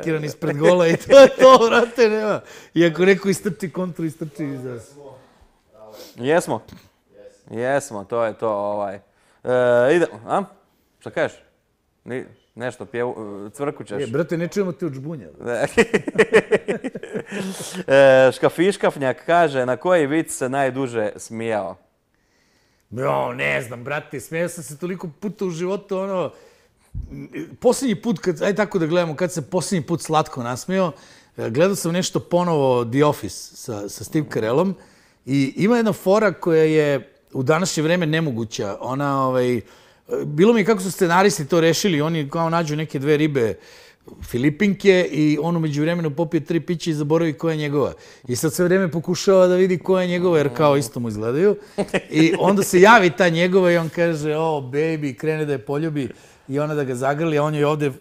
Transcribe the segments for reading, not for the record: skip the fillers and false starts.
Kiran ispred gola i to je to, vrate, nema. I ako neko istrči kontru, istrči iza. Jesmo? Jesmo, to je to. Idemo, a? Šta kažeš? Nešto, cvrkućeš. Brate, ne čujemo te od žbunja. Škafiškafnjak kaže, na koji vic se najduže smijao? Ne znam, brate, smijao sam se toliko puta u životu, posljednji put, ajde tako da gledamo, kad se posljednji put slatko nasmijao, gledao sam nešto ponovo The Office sa Steve Carellom i ima jedna fora koja je u današnje vreme nemoguća. Bilo mi je kako su scenaristi to rešili, oni kao nađu neke dve ribe Filipinke i on umeđu vremenu popije 3 pića i zaboravi koja je njegova. I sad sve vreme pokušava da vidi koja je njegova, jer kao isto mu izgledaju. I onda se javi ta njegova i on kaže, baby, krene da je poljubi. I ona da ga zagrli, a on je ovde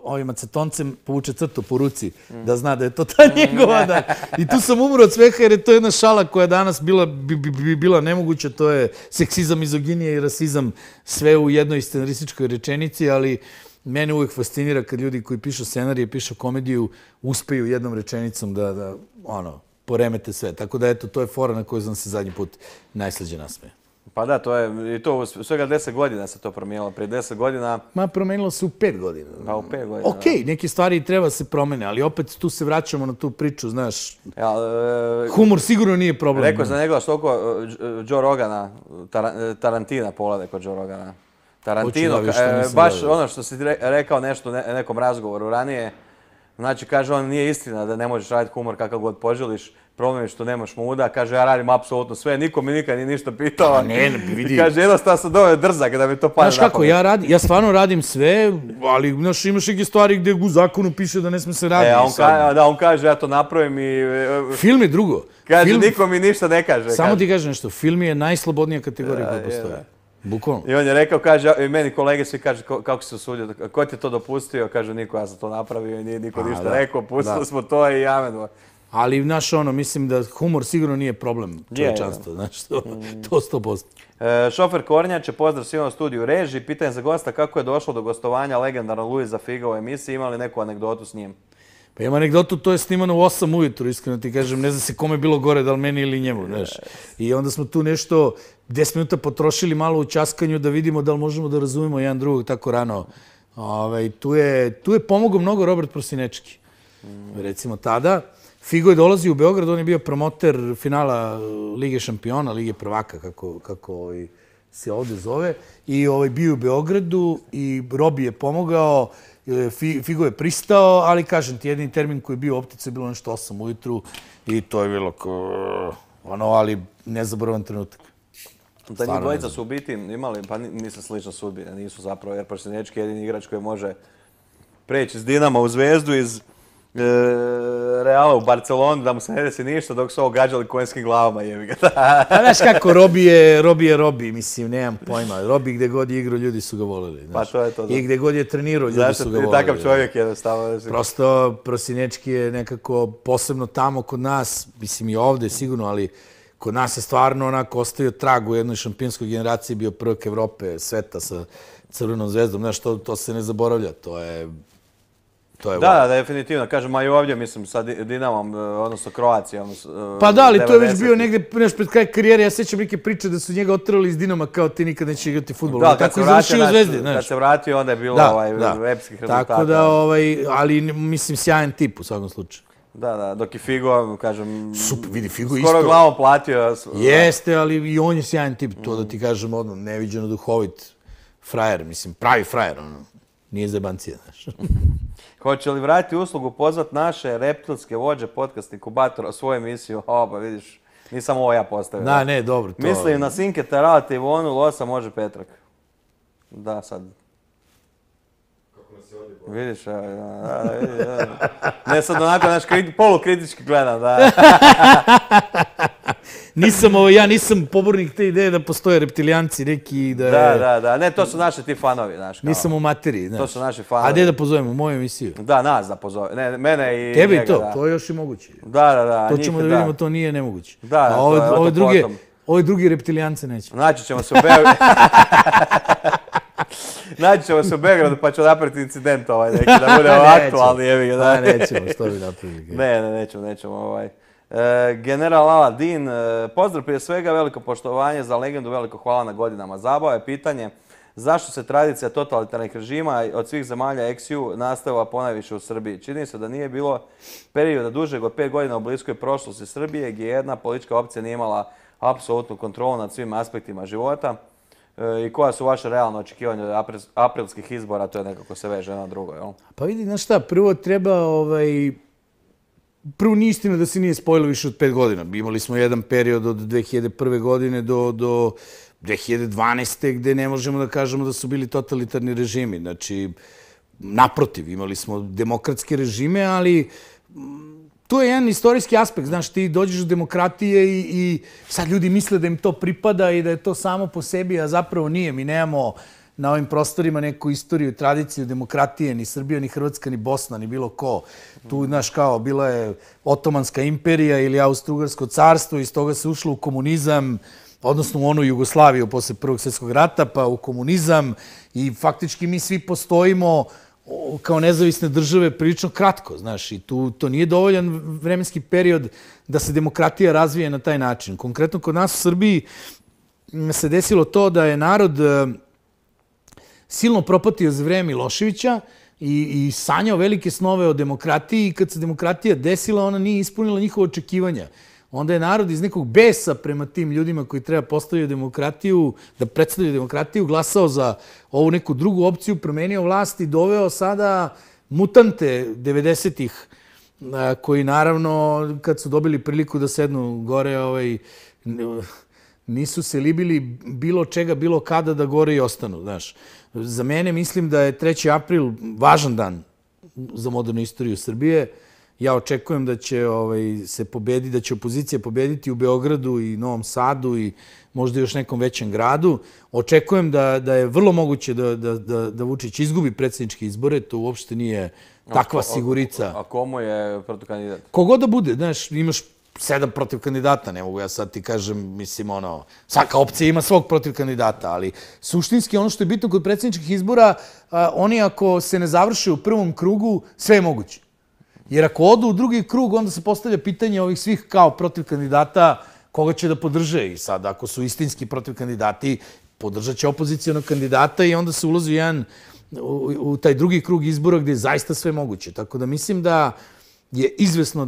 ovim acetoncem povuče crtu po ruci, da zna da je to ta njegova. I tu sam umro od sveha, jer je to jedna šala koja danas bila nemoguća, to je seksizam, mizoginija i rasizam, sve u jednoj scenarističkoj rečenici, ali mene uvijek fascinira kad ljudi koji pišu scenarije, pišu komediju, uspeju jednom rečenicom da poremete sve. Tako da, eto, to je fora na koju sam se zadnji put najslađe nasmeje. Pa da, to je, i to u svega 10 godina se to promijenilo, prije 10 godina... Promijenilo se u 5 godina. Pa u 5 godina. Okej, neke stvari treba se promene, ali opet tu se vraćamo na tu priču, znaš. Humor sigurno nije problem. Rekao sam njegova što oko Joe Rogana, Tarantina pogledaj kod Joe Rogana. Tarantino, baš ono što si rekao nešto u nekom razgovoru ranije, znači kaže on nije istina da ne možeš raditi humor kakav god poželiš, problem je što nemaš muda, kaže ja radim apsolutno sve, niko mi nikad nije ništa pitao. Vidi. Kaže jednostavno sam dovoljno drzak da mi to pada na pamet. Znaš kako, ja stvarno radim sve, ali imaš neke stvari gdje u zakonu piše da ne sme se raditi. Da, on kaže ja to napravim i... Film je drugo. Kaže niko mi ništa ne kaže. Samo ti kažem nešto, film je najslobodnija kategorija koja postoje. Bukvalno. I on je rekao, kaže, i meni kolege svi kaže kako se usudio, ko ti je to dopustio, kaže niko, ja sam to napravio i nije niko ništa rekao, pustili smo to i amen. Ali, znaš, mislim da humor sigurno nije problem čovječanstva, znaš, to 100%. Šofer Kornjače, pozdrav svima u studiju Reži, pitanje za gosta kako je došlo do gostovanja legendarnog Luisa Figa u emisiji, ima li neku anegdotu s njim? Pa ima anegdotu, to je snimano u 8 ujutru, iskreno ti kažem, ne zna se kome je bilo gore, da li meni ili njemu, znaš. I onda smo tu nešto 10 minuta potrošili malo u ćaskanju da vidimo da li možemo da razumemo jedan drugog tako rano. Tu je pomogao mnogo Robert Prosinečki. Recimo tada, Figo je dolazio u Beograd, on je bio promoter finala Lige šampiona, Lige prvaka, kako se ovde zove. I bio u Beogradu i Robi je pomogao, Figo je pristao, ali kažem ti, jedini termin koji je bio u optici je bilo nešto 8 ujutru i to je bilo ali nezaboravan trenutak. Da njih dvojica su u biti imali, pa nisam slično sudbine, nisu zapravo, jer Prosinečki je jedini igrač koji može preći iz Dinama u Zvezdu, iz Reala u Barcelonu, da mu se ne desi ništa, dok su ovo gađali konjskim glavama, jebi ga. Znaš kako, Robi je Robi, mislim, nemam pojma. Robi gde god je igrao, ljudi su ga voleli. Pa to je to. I gde god je trenirao, ljudi su ga voleli. Takav čovjek jednostavno. Prosto, Prosinečki je nekako posebno tamo kod nas, mislim i ovde sigurno, ali kod nas je stvarno onako ostavio trag u jednoj šampionskoj generaciji, bio prvak Evrope, sveta sa Crvenom zvezdom. Znaš, to se ne zaboravlja, to je... Da, definitivno. Kažem, a i ovdje, mislim, sa Dinamom, odnosno Kroacijom. Pa da, ali to je već bio negdje pred kraj karijere. Ja sećam neke priče da su njega oterali iz Dinama kao ti nikad neće igrati fudbal. Da, kad se vratio, onda je bilo epskih rezultata. Tako da, ali mislim, sjajan tip u svakom slučaju. Da, dok je Figo, kažem, super, vidi, Figo isto. Skoro glavom platio. Jeste, ali i on je sjajan tip, to da ti kažem, neviđeno duhovit frajer, mislim, pravi frajer, nije zebancija, znaš. Hoće li vratiti uslugu pozvat naše reptilske vođe, podcast inkubatora u svoju emisiju? Pa vidiš, nisam ovo ja postavio. Da, ne, dobro. Mislim na Sinke, Taralate, Ivonu, Losa može Petrak. Da, sad. Kako nas je ovdje vidiš, ne sad onako, znaš, polukritički gledam, da. Ja nisam pobornik te ideje da postoje reptilijanci neki da... Da, ne, to su naši ti fanovi, znaš. Nisam u materiji, znaš. To su naši fanovi. A gdje da pozovemo, u moju emisiju? Da, nas da pozovemo, ne, mene i njega. Tebi i to, to je još i moguće. Da, to ćemo da vidimo, to nije nemoguće. Da, ove drugi reptilijance neće. Naći ćemo se u Beogradu. Naći ćemo se u Beogradu pa ću napraviti incident neki, da bude aktualni. Nećemo, što bi napravili. Nećemo. General Aladin, pozdrav prije svega, veliko poštovanje za legendu, veliko hvala na godinama zabave. Pitanje, zašto se tradicija totalitarnih režima od svih zemalja ex-EU nastavila ponajviše u Srbiji? Čini se da nije bilo perioda dužeg od 5 godina u bliskoj prošlosti Srbije gdje jedna politička opcija nije imala apsolutnu kontrolu nad svim aspektima života. I koja su vaše realne očekivanja od aprilskih izbora? To je nekako se veže na drugo, jel? Pa vidi, znaš šta, prvo treba... Prvo, nije istina da se nije spojilo više od 5 godina. Imali smo jedan period od 2001. godine do 2012. gde ne možemo da kažemo da su bili totalitarni režimi. Znači, naprotiv, imali smo demokratske režime, ali to je jedan istorijski aspekt. Znaš, ti dođeš do demokratije i sad ljudi misle da im to pripada i da je to samo po sebi, a zapravo nije. Mi nemamo na ovim prostorima neku istoriju, tradiciju demokratije, ni Srbija, ni Hrvatska, ni Bosna, ni bilo ko. Tu, znaš, kao, bila je Otomanska imperija ili Austro-Ugarsko carstvo, iz toga se ušlo u komunizam, odnosno u onu Jugoslaviju posle Prvog svjetskog rata, pa u komunizam i faktički mi svi postojimo kao nezavisne države prilično kratko, znaš, i to nije dovoljan vremenski period da se demokratija razvije na taj način. Konkretno, kod nas u Srbiji se desilo to da je narod silno propatio za vreme Miloševića i sanjao velike snove o demokratiji i kad se demokratija desila, ona nije ispunila njihova očekivanja. Onda je narod iz nekog besa prema tim ljudima koji treba postaviti demokratiju, da predstavljaju demokratiju, glasao za ovu neku drugu opciju, promenio vlast i doveo sada mutante 90-ih, koji naravno, kad su dobili priliku da sednu gore, nisu se libili bilo čega, bilo kada da gore i ostanu, znaš. Za mene mislim da je 3. april važan dan za modernu istoriju Srbije. Ja očekujem da će se pobediti, da će opozicija pobediti u Beogradu i Novom Sadu i možda još nekom većem gradu. Očekujem da je vrlo moguće da Vučić izgubi predsjedničke izbore, to uopšte nije takva sigurica. A komu je protivkandidat? Kogod da bude, znaš, imaš 7 protiv kandidata, ne mogu ja sad ti kažem, mislim, svaka opcija ima svog protiv kandidata, ali suštinski ono što je bitno kod predsjedničkih izbora, oni ako se ne završe u prvom krugu, sve je moguće. Jer ako odu u drugi krug, onda se postavlja pitanje ovih svih kao protiv kandidata koga će da podrže. I sad, ako su istinski protiv kandidati, podržat će opozicijonog kandidata i onda se ulazi u taj drugi krug izbora gde je zaista sve moguće. Tako da mislim da je izvesno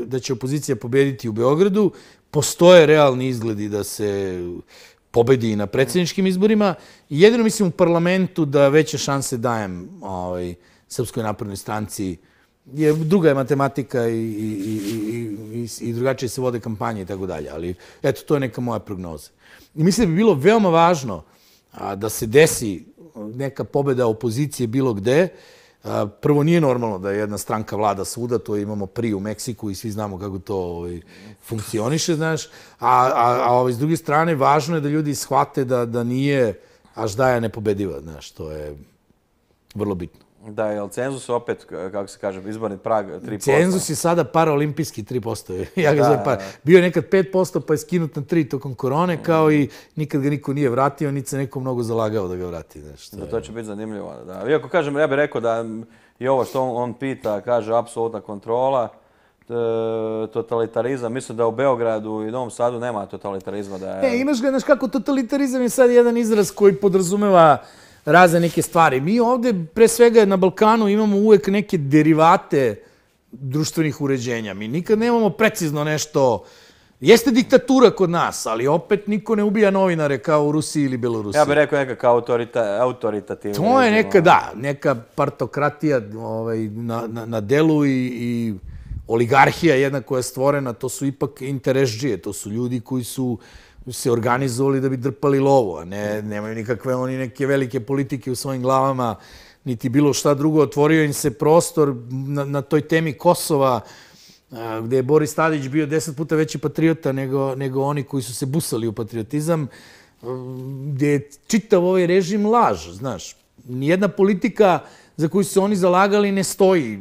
da će opozicija pobediti u Beogradu. Postoje realni izgledi da se pobedi i na predsjedničkim izborima. I jedino mislim u parlamentu da veće šanse dajem Srpskoj naprednoj stranci. Druga je matematika i drugačije se vode kampanje i tako dalje. Ali eto, to je neka moja prognoza. I mislim da bi bilo veoma važno da se desi neka pobeda opozicije bilo gde. Prvo, nije normalno da jedna stranka vlada svuda, to imamo PRI u Meksiku i svi znamo kako to funkcioniše, znaš. A s druge strane, važno je da ljudi shvate da nije Aždaja nepobediva, znaš, to je vrlo bitno. Da, je li cenzus opet, kako se kaže, izborni prag 3%? Cenzus je sada paraolimpijski 3%. Ja ga zovem para. Bio je nekad 5%, pa je skinut na 3% tokom korone, kao i nikad ga niko nije vratio, niti se neko mnogo zalagao da ga vrati. To će biti zanimljivo. Iako kažem, ja bih rekao da i ovo što on pita, kaže apsolutna kontrola, totalitarizam. Mislim da u Beogradu i Novom Sadu nema totalitarizma. Imaš ga, znaš kako, totalitarizam je sad jedan izraz koji podrazumeva razne neke stvari. Mi ovde, pre svega na Balkanu, imamo uvek neke derivate društvenih uređenja. Mi nikad nemamo precizno nešto. Jeste diktatura kod nas, ali opet niko ne ubija novinare kao u Rusiji ili Belorusiji. Ja bih rekao nekakav autoritativni. To je neka partokratija na delu i oligarhija jedna koja je stvorena. To su ipak interesđije, to su ljudi koji su se organizovali da bi drpali lovu, a nemaju nikakve oni neke velike politike u svojim glavama, niti bilo šta drugo. Otvorio im se prostor na toj temi Kosova, gde je Boris Tadić bio 10 puta veći patriota nego oni koji su se busali u patriotizam, gde je čitav ovaj režim laž, znaš. Nijedna politika za koju su oni zalagali ne stoji.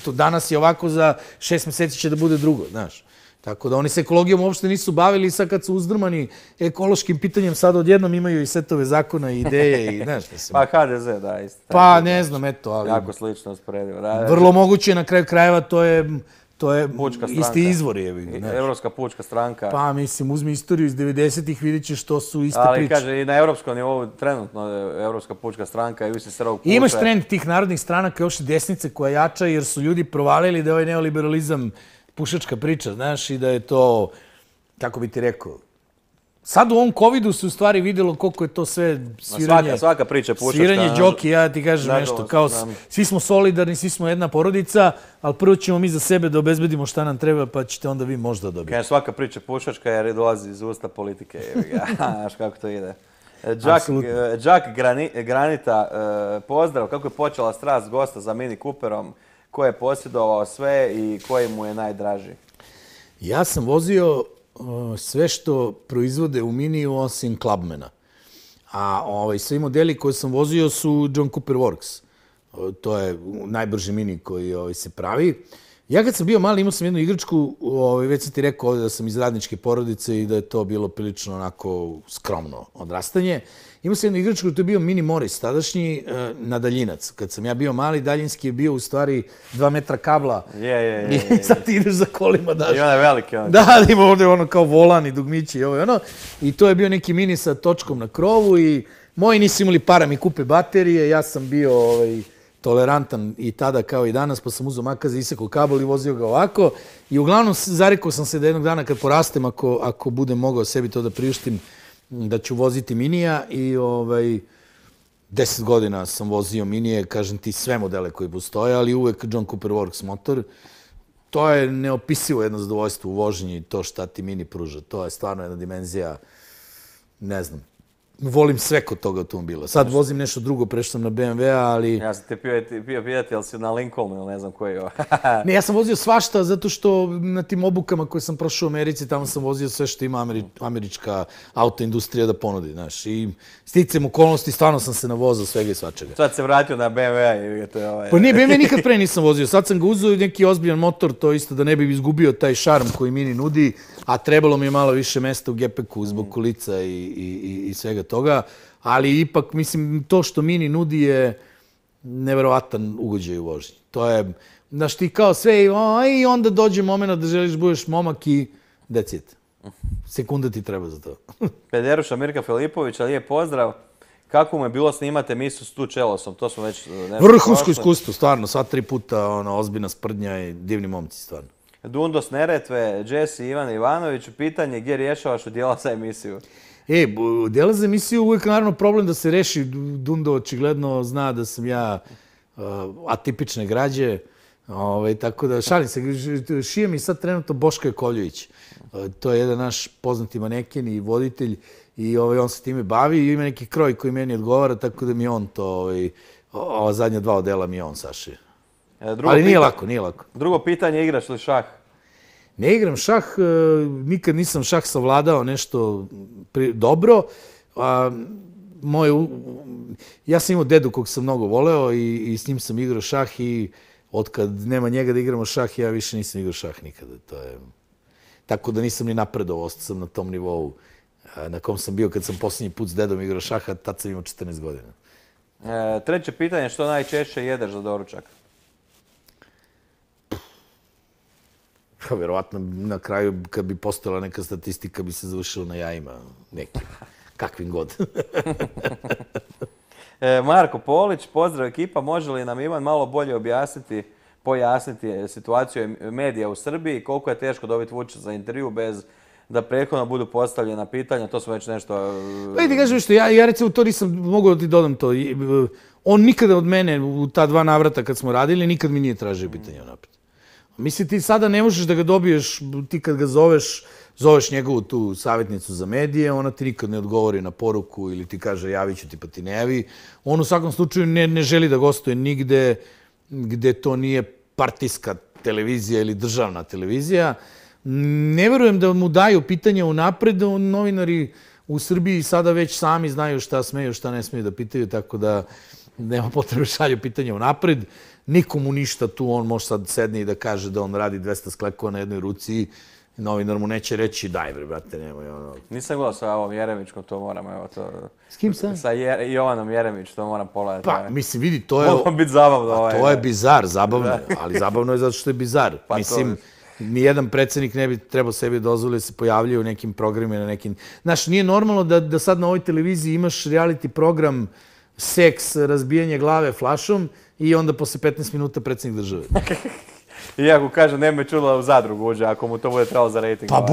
Danas je ovako, za 6 meseci će da bude drugo, znaš. Tako da oni se ekologijom uopšte nisu bavili i sad kad su uzdrmani ekološkim pitanjem, sad odjednom imaju i setove zakona i ideje i nešto. Pa HDZ, da, isto. Pa ne znam, eto, ali... Jako slično usporedivo. Vrlo moguće, na kraju krajeva to je isti izvor. Evropska pučka stranka. Pa mislim, uzmi istoriju iz 90-ih, vidjet ćeš što su iste priče. Ali kaže, i na evropskom nivou trenutno Evropska pučka stranka i vi se srov kuće. Imaš trend tih narodnih stranaka, još i desnice koja jača, jer su ljudi provalili da je ovaj neoliberalizam pušačka priča, znaš, i da je to, kako bi ti rekao, sad u ovom covidu se u stvari vidjelo koliko je to sve sviranje... Svaka priča pušačka. Sviranje džoki, ja ti kažem nešto, kao svi smo solidarni, svi smo jedna porodica, ali prvo ćemo mi za sebe da obezbedimo šta nam treba, pa ćete onda vi možda dobiti. Kaže, svaka priča pušačka jer dolazi iz usta politike, znaš kako to ide. Jack Granita, pozdrav, kako je počela strast gosta za Mini Cooperom, ko je posjedovao sve i koji mu je najdraži? Ja sam vozio sve što proizvode u Miniju osim Clubmana. A svi modeli koje sam vozio su John Cooper Works. To je najbrži Mini koji se pravi. Ja kad sam bio mali imao sam jednu igračku, već sam ti rekao ovdje da sam iz radničke porodice i da je to bilo prilično onako skromno odrastanje. Imao sam jednu igračku, to je bio Mini Morris, tadašnji na daljinac. Kad sam ja bio mali, daljinski je bio u stvari 2 metra kabla. I sad ti ideš za kolima, daš. I onaj veliki. Da, ima ovdje ono kao volan i dugmići i ovo i ono. I to je bio neki Mini sa točkom na krovu i moji nisu imali para mi kupe baterije, ja sam bio tolerantan i tada kao i danas, pa sam uzeo makaze, isekao kabel i vozio ga ovako. I uglavnom zarekao sam se da jednog dana kad porastem, ako budem mogao sebi to da priuštim, da ću voziti Minija i 10 godina sam vozio Minije, kažem ti sve modele koji postoje, ali uvek John Cooper Works motor. To je neopisivo jedno zadovoljstvo u vožnji, to šta ti Mini pruža. To je stvarno jedna dimenzija, ne znam. Volim sve kod toga automobila. Sad vozim nešto drugo, prešao sam na BMW-a, ali... Ja sam te bio pitati, jel si na Lincolnu ili ne znam koji je ovo? Ne, ja sam vozio svašta, zato što na tim obukama koje sam prošao u Americi, tamo sam vozio sve što ima američka autoindustrija da ponudi, znaš. I sticam okolnosti, stvarno sam se navozao svega i svačega. Sad se vratio na BMW-a i to je ovaj... Pa nije, BMW nikad pre nisam vozio. Sad sam ga uzeo i neki ozbiljan motor, to isto da ne bi izgubio taj šarm koji Mini nudi, a trebalo mi je malo više mesta u gepeku zbog kolica i svega toga, ali ipak, mislim, to što Mini nudi je neverovatan ugođaj u vožnji. To je, znaš, ti kao sve i onda dođe moment da želiš budeš momak i that's it. Sekunda ti treba za to. Pederuša Mirka Filipovića, lijep pozdrav. Kako mu je bilo snimati emisiju s Tu Čelosom? To smo već... Vrhunsko iskustvo, stvarno. Sva 3 puta ozbiljna sprdnja i divni momci, stvarno. Dundos Neretve, Jesse Ivan Ivanović, pitanje gdje rješavaš udjela za emisiju? Djela za emisiju uvijek naravno problem da se reši. Dundo očigledno zna da sam ja atipične građe. Tako da šalim se, šije mi sad trenutno Boško Jakovljević. To je jedan naš poznati maneken i voditelj i on se time bavi i ima neki kroj koji meni odgovara, tako da mi on to, ova zadnja 2 odela mi on sašije. Ali nije lako. Drugo pitanje, igraš li šah? Ne igram šah, nikad nisam šah savladao nešto dobro. Ja sam imao dedu kog sam mnogo voleo i s njim sam igrao šah i otkad nema njega da igramo šah, ja više nisam igrao šah nikada. Tako da nisam ni napredovao, ostao sam na tom nivou na kom sam bio kad sam posljednji put s dedom igrao šaha, tad sam imao 14 godina. Treće pitanje, što najčešće jedeš za doručak? Vjerovatno na kraju, kad bi postojala neka statistika, bi se završila na jajima nekim, kakvim god. Marko Polić, pozdrav ekipa, može li nam Ivan malo bolje pojasniti situaciju medija u Srbiji, koliko je teško dobiti Vučića za intervju bez da prethodno budu postavljena pitanja, to smo već nešto... Pa ti kažem što, ja recimo to nisam mogao da ti dodam to. On nikada od mene u ta 2 navrata kad smo radili, nikad mi nije tražio pitanja napred. Mislim, ti sada ne možeš da ga dobiješ, ti kad ga zoveš njegovu tu savjetnicu za medije, ona ti nikad ne odgovori na poruku ili ti kaže javit ću ti pa ti ne javi. On u svakom slučaju ne želi da gostuje nigde gde to nije partijska televizija ili državna televizija. Ne verujem da mu daju pitanja unapred, novinari u Srbiji sada već sami znaju šta smeju, šta ne smeju da pitaju, tako da nema potrebe šalju pitanja unapred. Nikomu ništa tu, on može sad sedne i da kaže da on radi 200 sklekova na jednoj ruci novinar mu neće reći daj bre, brate, nemoj ono. Nisam gledao sa ovom Jeremićkom, to moram, evo to... S kim sam? Sa Jovanom Jeremić, to moram pogledati. Pa, mislim, vidi, to je... Moglo biti zabavno. To je bizar, zabavno je, ali zabavno je zato što je bizar. Mislim, nijedan predsjednik ne bi trebao sebi dozvoliti da se pojavljaju u nekim programima, na nekim... Znaš, nije normalno da sad na ovoj televiziji imaš reality program seks, razbijanje glave flašom i onda posle 15 minuta predsjednik države. Iako kaže, ne me čulo u zadrugu uđe, ako mu to bude trebalo za rejting. Pa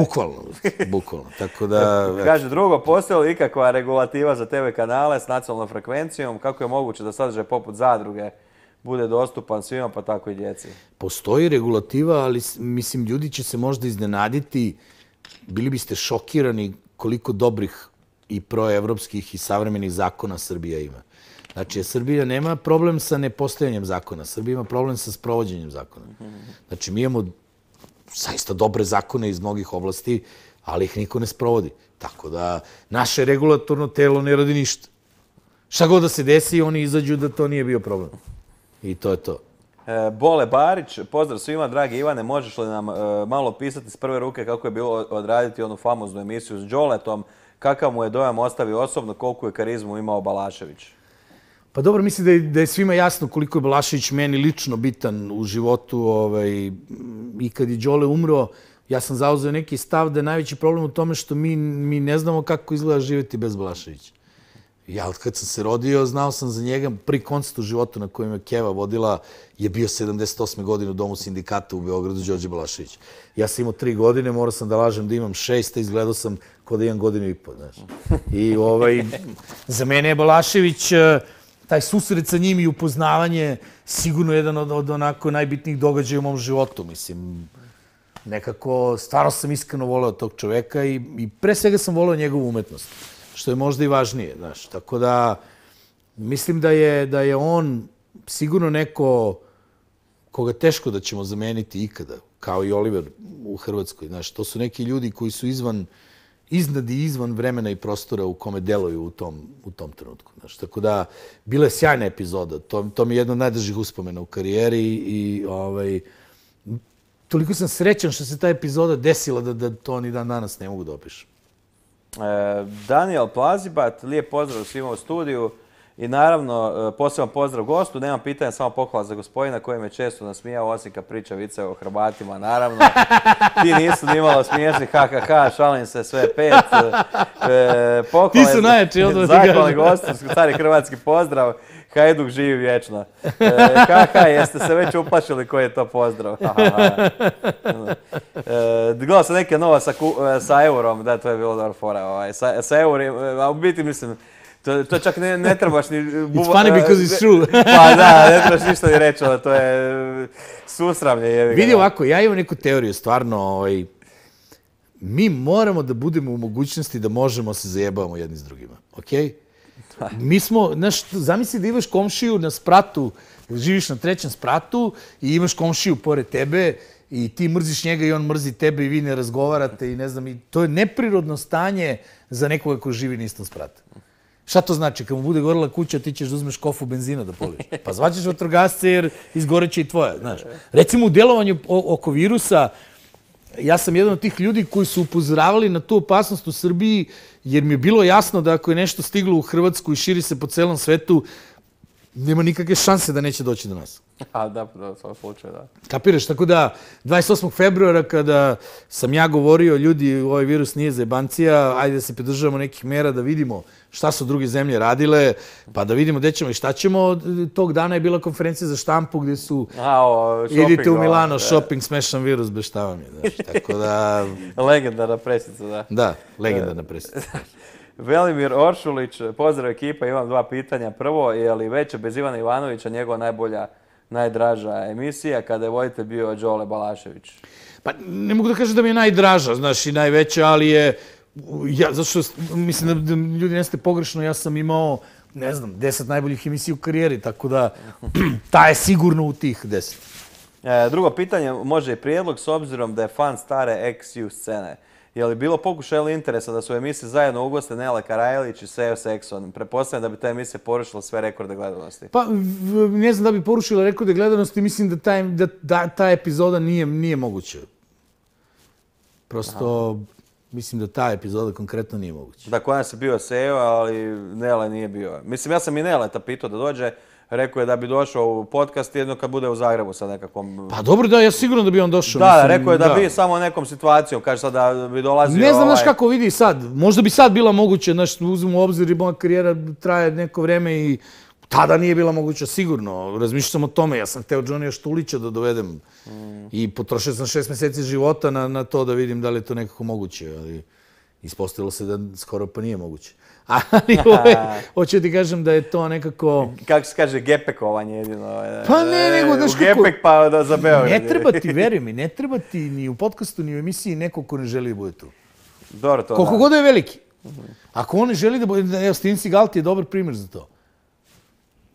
bukvalno. Tako da... Kaže, drugo, postoji li ikakva regulativa za TV kanale s nacionalnom frekvencijom? Kako je moguće da sadržaj poput zadruge bude dostupan svima, pa tako i djeci? Postoji regulativa, ali mislim, ljudi će se možda iznenaditi, bili biste šokirani koliko dobrih i proevropskih i savremenih zakona Srbija ima. Znači, Srbija nema problem sa nepostojanjem zakona. Srbija ima problem sa sprovođenjem zakona. Znači, mi imamo zaista dobre zakone iz mnogih oblasti, ali ih niko ne sprovodi. Tako da, naše regulatorno telo ne radi ništa. Šta god da se desi, oni izađu da to nije bio problem. I to je to. Bole Barić, pozdrav svima, dragi Ivane, možeš li nam malo pisati s prve ruke kako je bilo odraditi onu famoznu emisiju s Đoletom, kakav mu je dojam ostavio osobno, koliko je karizmu imao Balašević? Pa dobro, mislim da je svima jasno koliko je Balašević meni lično bitan u životu. I kad je Đole umro, ja sam zauzeo neki stav da je najveći problem u tome što mi ne znamo kako izgleda živjeti bez Balaševića. Ja od kad sam se rodio, znao sam za njega. Prvi koncert u životu na kojem je Keva vodila je bio 78. godine u Domu sindikata u Beogradu, Đorđe Balašević. Ja sam imao 3 godine, morao sam da lažem da imam 6, a izgledao sam kao da imam 1,5 godina. I za mene je Balašević, taj susret sa njim i upoznavanje, sigurno jedan od onako najbitnijih događaja u mom životu. Mislim, nekako, stvarno sam iskreno voleo tog čoveka i pre svega sam voleo njegovu umetnost, što je možda i važnije, znaš. Tako da, mislim da je on sigurno neko koga teško da ćemo zameniti ikada, kao i Oliver u Hrvatskoj, znaš. To su neki ljudi koji su iznad i izvan vremena i prostora u kome deluju u tom trenutku. Znaš. Tako da, bila je sjajna epizoda. To mi je jedna od najdražih uspomena u karijeri i toliko sam srećan što se ta epizoda desila da to ni dan danas ne mogu da opišem. Daniel Plazibat, lijep pozdrav svima u studiju i naravno poseban pozdrav gostu. Nemam pitanja, samo pohvala za gospodina koji me često nasmijao, osim kad priča vice o Hrvatima, naravno. Ti nisu nimalo smiješni, šalim se, sve 5. Ti su najjači, odmah ti kažem. Zahvalni gostu, stari hrvatski pozdrav. Hajduk živi vječno. Jeste se već uplašili koji je to pozdrav? Gledao sam neke nova sa eurom, da, to je bilo dobro fora. Sa eurom, a u biti mislim, to čak ne trebaš ni... It's funny because it's true. Pa da, ne trebaš ništa ni reći, to je susramlje. Vidi ovako, ja imam neku teoriju, stvarno, mi moramo da budemo u mogućnosti da možemo se zajebavamo jedni s drugima, okej? Mi smo, znaš, zamisli da imaš komšiju na spratu, živiš na 3. spratu i imaš komšiju pored tebe i ti mrziš njega i on mrzi tebe i vi ne razgovarate i ne znam, i to je neprirodno stanje za nekoga ko živi na istom spratu. Šta to znači? Kad mu bude gorela kuća, ti ćeš da uzmeš kofu benzina da poliš. Pa zvaćeš vatrogasce jer izgoreće i tvoja, znaš. Recimo u delovanju oko virusa, ja sam jedan od tih ljudi koji su upozoravali na tu opasnost u Srbiji, jer mi je bilo jasno da ako je nešto stiglo u Hrvatsku i širi se po celom svetu, nema nikakve šanse da neće doći do nas. Da, u svom slučaju, da. Kapiraš? Tako da, 28. februara, kada sam ja govorio, ljudi, ovaj virus nije zajebancija, ajde da se pridržavamo nekih mera, da vidimo šta su druge zemlje radile, pa da vidimo gde ćemo i šta ćemo. Tog dana je bila konferencija za štampu gdje su idite u Milano, shopping, smešan virus, bez šta vam je. Tako da... Legendarna presica, da. Da, legendarna presica. Velimir Oršulić, pozdrav ekipa, imam 2 pitanja. Prvo, je li već bez Ivana Ivanovića njegova najbolja, najdraža emisija kada je voditelj bio Đole Balašević? Pa ne mogu da kažem da mi je najdraža, znaš, i najveća, ali je... Zato što mislim da ljudi neste pogrešno, ja sam imao, ne znam, 10 najboljih emisija u karijeri, tako da ta je sigurno u tih 10. Drugo pitanje, može i prijedlog, s obzirom da je fan stare XU scene. Je li bilo pokušaj ili interesa da su u emisiji zajedno ugoste Nela Karajlić i Sejo Sekson? Pretpostavljam da bi ta emisija porušila sve rekorde gledanosti. Pa, ne znam da bi porušila rekorde gledanosti, mislim da ta epizoda nije moguća. Prosto, mislim da ta epizoda konkretno nije moguća. Da, kod nas je bio Sejo, ali Nele nije bio. Mislim, ja sam i Neleta pitao da dođe, rekao je da bi došao u podcast jedno kad bude u Zagrebu sa nekakvom... Pa dobro, da, ja sigurno da bi on došao. Da, mislim, rekao je da bi samo nekom situacijom, kaže sad da bi dolazio... Ne znam, znaš kako vidi sad, možda bi sad bila moguće, znaš, uzmem u obzir i moja karijera traje neko vreme i tada nije bila moguća, sigurno. Razmišljao sam o tome, ja sam hteo Johnnyja Štulića da dovedem i potrošio sam 6 meseci života na to da vidim da li je to nekako moguće, ali ispostavilo se da skoro pa nije moguće. Ali hoću ti kažem da je to nekako... Kako se kaže, gepekovanje jedino. Pa ne, nego daš kako... U gepek pa za Beograd. Ne treba ti, veruj mi, ne treba ti ni u podcastu, ni u emisiji neko ko ne želi da bude tu. Dobro, to koliko god je veliki. Ako on ne želi da bude... Evo, Steven Seagal ti je dobar primjer za to.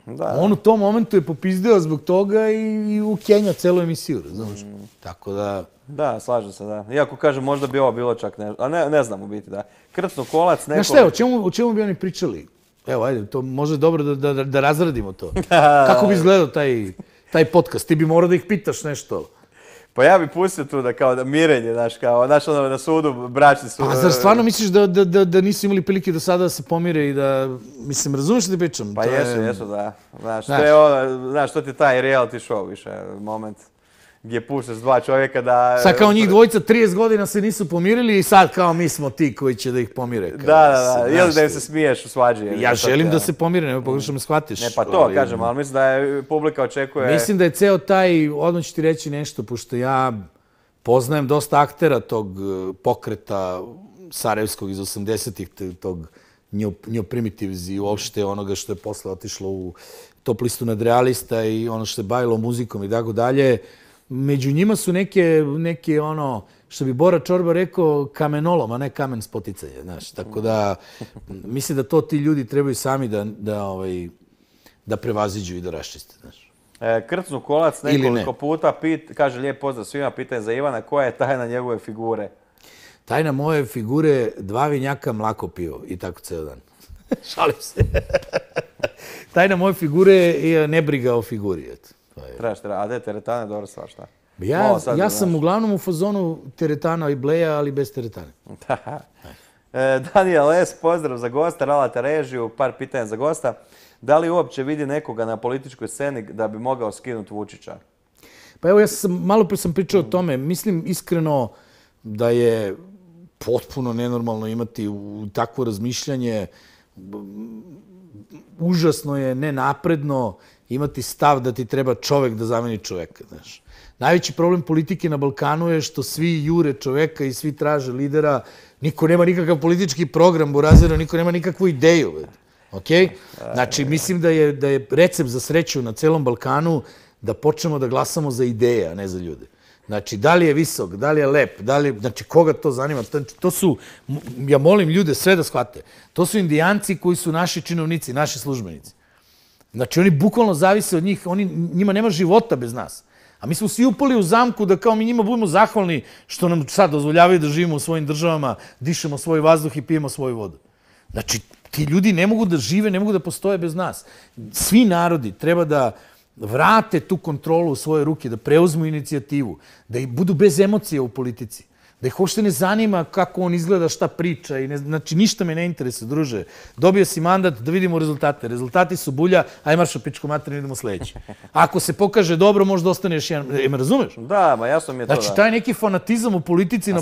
Da. On u tom momentu je popizdeo zbog toga i ukenjao celu emisiju, razumiješ? Tako da... Da, slažem se, da. Iako kažem, možda bi ovo bilo čak nešto, a ne znam u biti, da. Krcnu kolac, neko... Znaš šta, o čemu bi oni pričali? Evo, ajde, to može dobro da razradimo to. Kako bi izgledao taj podcast? Ti bi morao da ih pitaš nešto. Pa ja bi pustio tu da kao da mirenje, znaš, kao, znaš ono na sudu, bračni sud. A zar stvarno misliš da nisu imali prilike do sada da se pomire i da, mislim, razumiješ što ti pričam? Pa jesu, da. Znaš, to je ono, znaš, to ti je taj reality show više, moment gdje puštaš dva čovjeka da... Sad kao njih dvojica 30 godina se nisu pomirili i sad kao mi smo ti koji će da ih pomire. Da, ili da im se smiješ u svađi. Ja želim da se pomire, nema pogrešno me shvatiš. Ne, pa to kažem, ali mislim da je publika očekuje... Mislim da je ceo taj, odmah ću ti reći nešto, pošto ja poznajem dosta aktera tog pokreta sarajevskog iz 80-ih, tog New Primitives i uopšte onoga što je posle otišlo u top listu nadrealista i ono što se bavilo muzikom i tako dalje. Među njima su neke ono, što bi Bora Čorba rekao, kamenolom, a ne kamen spoticanje, znaš. Tako da, mislim da to ti ljudi trebaju sami da prevaziđu i da raščiste, znaš. Krcnu kolac nekoliko puta, kaže lijep pozdrav svima, pitanje za Ivana, koja je tajna njegove figure? Tajna moje figure, 2 vinjaka, mlako pivo i tako ceo dan. Šalim se. Tajna moje figure je nebriga o figuri, eto. A da je teretana dobro stvar, šta? Ja sam uglavnom u fazonu teretana i bleja, ali bez teretane. Daniel S, pozdrav za gosta, Ralata režiju, par pitanja za gosta. Da li uopće vidi nekoga na političkoj sceni da bi mogao skinuti Vučića? Pa evo, malo pre sam pričao o tome. Mislim iskreno da je potpuno nenormalno imati takvo razmišljanje. Užasno je nenapredno imati stav da ti treba čovek da zameni čoveka, znaš. Najveći problem politike na Balkanu je što svi jure čoveka i svi traže lidera. Niko nema nikakav politički program, burazero, niko nema nikakvu ideju. Okej? Znači, mislim da je recept za sreću na celom Balkanu da počnemo da glasamo za ideje, a ne za ljude. Znači, da li je visok, da li je lep, znači, koga to zanima? To su, ja molim ljude sve da shvate, to su Indijanci koji su naši činovnici, naši službenici. Znači, oni bukvalno zavise od njih, njima nema života bez nas. A mi smo svi upali u zamku da kao mi njima budemo zahvalni što nam sad dozvoljavaju da živimo u svojim državama, dišemo svoj vazduh i pijemo svoju vodu. Znači, ti ljudi ne mogu da žive, ne mogu da postoje bez nas. Svi narodi treba da vrate tu kontrolu u svoje ruke, da preuzmu inicijativu, da budu bez emocija u politici, da ih uopšte ne zanima kako on izgleda, šta priča. Znači, ništa me ne interesuje, druže. Dobio si mandat, da vidimo rezultate. Rezultati su bulja, aj maršo pičku materinu, idemo sledeći. Ako se pokaže dobro, možda ostaneš jedan... Me razumeš? Da, ma jasno mi je to, da. Znači, taj neki fanatizam u politici...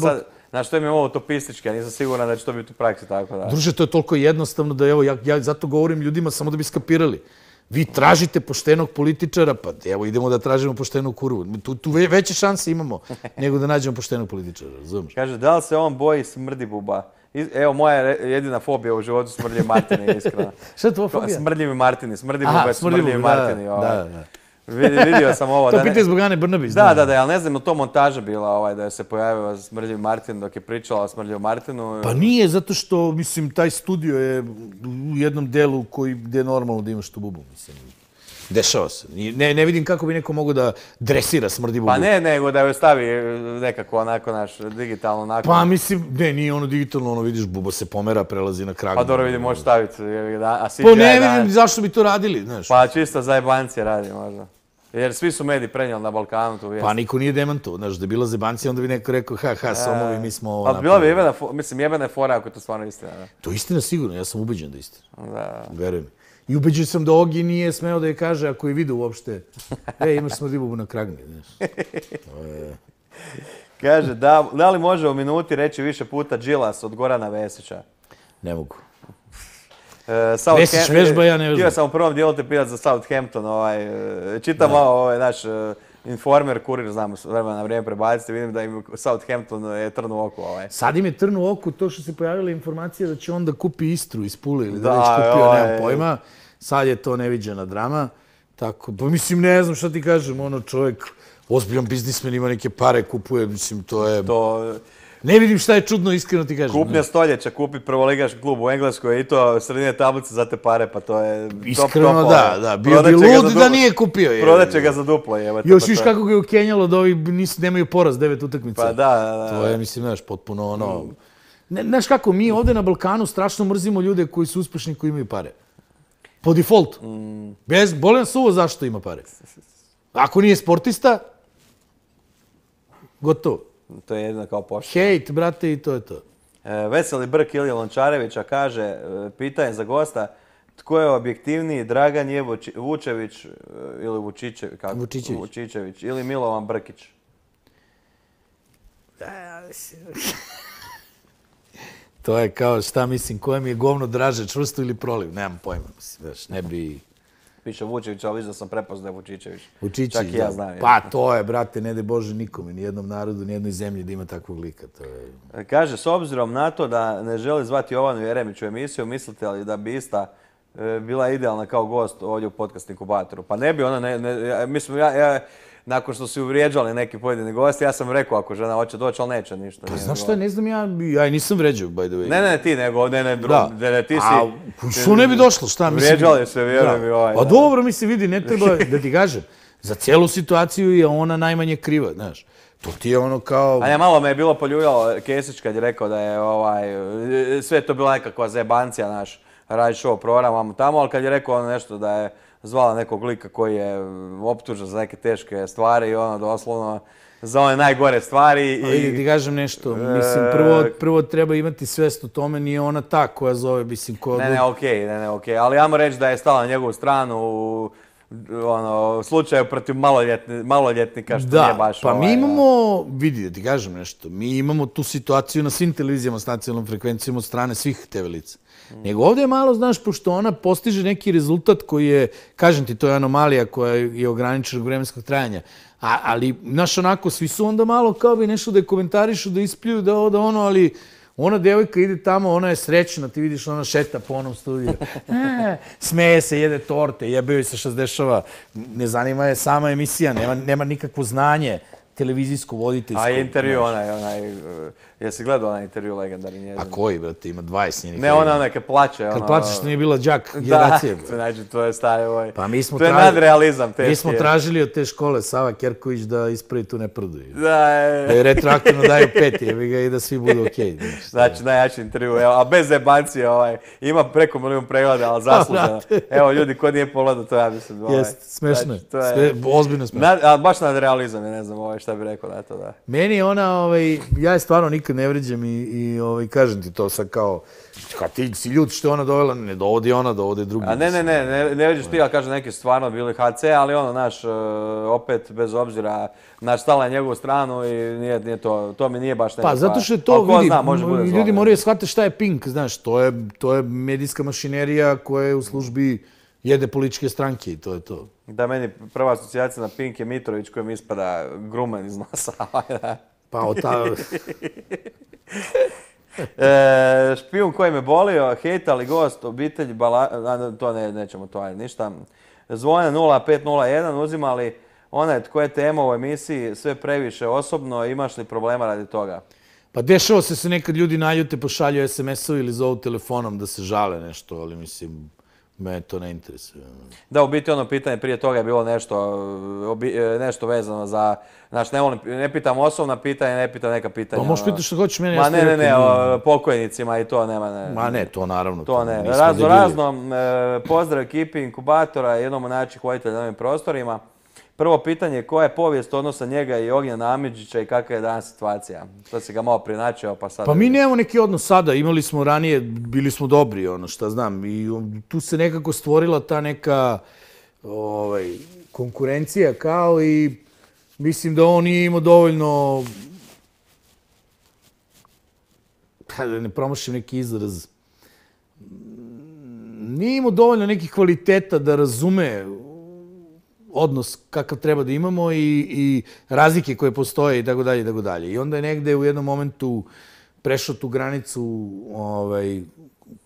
Znaš, to mi je ovo utopistički, ja nisam siguran da će to biti u praksi tako, da. Druže, to je toliko jednostavno da, evo, ja zato govorim ljudima samo da bi skapirali. Vi tražite poštenog političara, pa evo idemo da tražimo poštenu kurvu. Tu veće šanse imamo nego da nađemo poštenog političara, razumiješ? Kaže, da li se on boji smrdibuba? Evo, moja jedina fobija u životu smrdljivi Martini, iskreno. Šta je tvoja fobija? Smrdljivi Martini, smrdibuba je smrdljivi Martini. Da. Vidio sam ovo. To pitanje zbog Ane Brnabić. Da, ali ne znam, je to montaža bila da je se pojavio smrdljivi Martin dok je pričala o smrdljivom Martinu? Pa nije, zato što, mislim, taj studio je u jednom delu gdje je normalno da imaš tu bubu, mislim. Dešava se. Ne vidim kako bi neko mogao da dresira smrdi bubu. Pa ne, nego da joj stavi nekako onako naš digitalno onako. Pa mislim, ne, nije ono digitalno, ono vidiš, buba se pomera, prelazi na kragu. Pa dobro vidim, možeš staviti. Pa ne vidim zašto bi to radili, znaš. Pa čisto za jebancije radi možda. Jer svi su mediji prenijeli na Balkanu tu vijest. Pa niko nije demantovao, znaš, da je bila zebancija, onda bi neko rekao, somovi, mi smo ovo napravili. Bila bi jebena je fora ako je to stvarno istina. To je istina sigurno, ja sam ubeđen da je istina. Da. Verujem. I ubeđen sam da Ogi nije smeo da je kaže, ako je vidio uopšte, imaš smrdljivu na kragni, znaš. Kaže, da li može u minuti reći više puta Đilas od Gorana Vesića? Ne mogu. Vesić vežba, ja ne vežbam. Htio sam u prvom dijelu te pitati za Southampton. Čitam malo naš Informer, Kurir, znam vremena na vrijeme prebaciti, vidim da im Southampton je trn u oku. Sad im je trn u oku to što se pojavila informacija da će on da kupi Istru iz Pule ili da već kupio, nemam pojma. Sad je to neviđena drama. Tako, pa mislim, ne znam šta ti kažem, čovjek, ozbiljan biznismen, ima neke pare, kupuje, mislim, to je... Ne vidim šta je čudno, iskreno ti kažem. Kupnja stoljeća, kupi prvoligaški klub u Engleskoj i to sredine tablice za te pare, pa to je top. Iskreno da, bio bi lud da nije kupio. Prodaće ga za duplo. Još viš kako ga je ukenjalo da ovi nemaju poraz 9 utakmica. Pa da. To je, mislim, znaš, potpuno Znaš kako, mi ovde na Balkanu strašno mrzimo ljude koji su uspešni, koji imaju pare. Po defaultu. Boli nas uvo zašto ima pare. Ako nije sportista, gotovo. To je jedino kao pošto. Hejt, brate, i to je to. Veseli Brk Ilija Lončarevića kaže, pitanje za gosta, tko je objektivniji, Dragan je Vučević ili Vučićević ili Milovan Brkić? To je kao, šta mislim, koje mi je govno draže, čvrsto ili proliv, nemam pojma, mislim, ne bi... Piše Vučević, ali viš da sam prepoznao Vučićević. Vučićević, čak i ja znam. Pa to je, brate, ne de Bože nikome, nijednom narodu, nijednoj zemlji da ima takvog lika. Kaže, s obzirom na to da ne želi zvati Jovanu Jeremić u emisiju, mislite li da bi ista bila idealna kao gost ovdje u podcast Inkubatoru? Pa ne bi ona, mislim, nakon što su uvrijeđali neki pojedini gosti, ja sam rekao ako žena hoće doći, ali neće ništa. Pa znaš šta, ne znam, ja i nisam vređao, by the way. Ne, ti nego, ne, ti si... Što ne bi došlo, šta mislim? Vrijeđali se, vjerujem mi Pa dobro mi se vidi, ne treba da ti kažem. Za cijelu situaciju je ona najmanje kriva, znaš. To ti je ono kao... A ne, malo me je bilo poljuljalo Kesić kad je rekao da je sve to bila nekakva zebancija, naš radi show program tamo, ali kad je rekao ono nešto da je zvala nekog lika koji je optužen za neke teške stvari i ono doslovno za one najgore stvari. Ali ti kažem nešto, mislim, prvo treba imati svest o tome, nije ona ta koja zove, mislim, koja... Ne, okej, ali ja mu reći da je stala na njegovu stranu u slučaju protiv maloljetnika, što nije baš... Pa mi imamo, vidi da ti kažem nešto, mi imamo tu situaciju na svim televizijama s nacionalnom frekvencijom od strane svih TV lica. Nego ovdje je malo, znaš, pošto ona postiže neki rezultat koji je, kažem ti, to je anomalija koja je ograničenog vremenskog trajanja. Ali, znaš, onako, svi su onda malo kao bi nešto da je komentarišu, da ispljuju, da ono, ali ona devojka ide tamo, ona je srećna, ti vidiš, ona šeta po onom studiju. Smeje se, jede torte, jebeo se šta se dešava. Ne zanima je sama emisija, nema nikakvo znanje televizijsko voditeljsko. A intervju jesi gledao onaj intervju legendarni njezin? A koji, brate, ima 20 njenih. Ne, ona kad plače. Kad plače što nije bila đak generacije. Da, znači, to je stari Pa mi smo to je nadrealizam teški. Mi smo tražili od te škole Sava Kerković da ispravi tu nepravdu. Da je retroaktivno daju 5 i da svi budu okej. Znači, najjači intervju, a bez jebancije, ima preko 1 milion pregleda, ali zasluženo. Evo, ljudi, ko nije pogledao, to ja mislim. Jest, smešno je. Ozbiljno smešno. Ali baš nadrealizam je, ne znam šta bi rekao na to, da. Meni je ona, ja je stvarno nikad ne vređam i kažem ti to sad kao, kad ti si ljud što je ona dovela, ne dovodi ona, dovode drugi. A ne vređaš ti, ali kažem neki stvarno bili HC, ali ono, naš, opet, bez obzira, naš stala na njegovu stranu i nije to mi nije baš neko. Pa zato što je to, vidi, ljudi moraju shvatiti šta je Pink, znaš, to je medijska mašinerija koja je u službi jede političke stranke i to je to. Da, meni prva asocijacija na Pink je Mitrović kojem ispada grumen iz nosa. Pa od ta... Špijun koji me bolio, hejtali gost, obitelj, to nećemo to, ništa. Zvone 0501, uzimali onaj tko je tema u emisiji, sve previše osobno, imaš li problema radi toga? Pa dešava se nekad ljudi naljute, pošalju SMS-ovi ili zovu telefonom da se žale nešto, ali mislim... Me to ne interesuje. Da, u biti ono pitanje prije toga je bilo nešto vezano za... Znači, ne pitam osobna pitanja, ne pitam neka pitanja. Pa možeš pitati što hoćeš mene. Ma ne, pokojnicima i to nema. Ma ne, to naravno. To ne. Razno, pozdrav ekipi Inkubatora, jednom od najjačih voditelja na ovim prostorima. Prvo pitanje, koja je povijest odnosa njega i Ognjena Amidžića i kakva je danas situacija? To si ga malo prinačio, pa sad... Pa mi nemamo neki odnos sada, imali smo ranije, bili smo dobri, šta znam, i tu se nekako stvorila ta neka konkurencija kao i mislim da on nije imao dovoljno, da ne promašim neki izraz, nije imao dovoljno nekih kvaliteta da razume odnos kakav treba da imamo i razlike koje postoje i tako dalje i tako dalje. I onda je negde u jednom momentu prešao tu granicu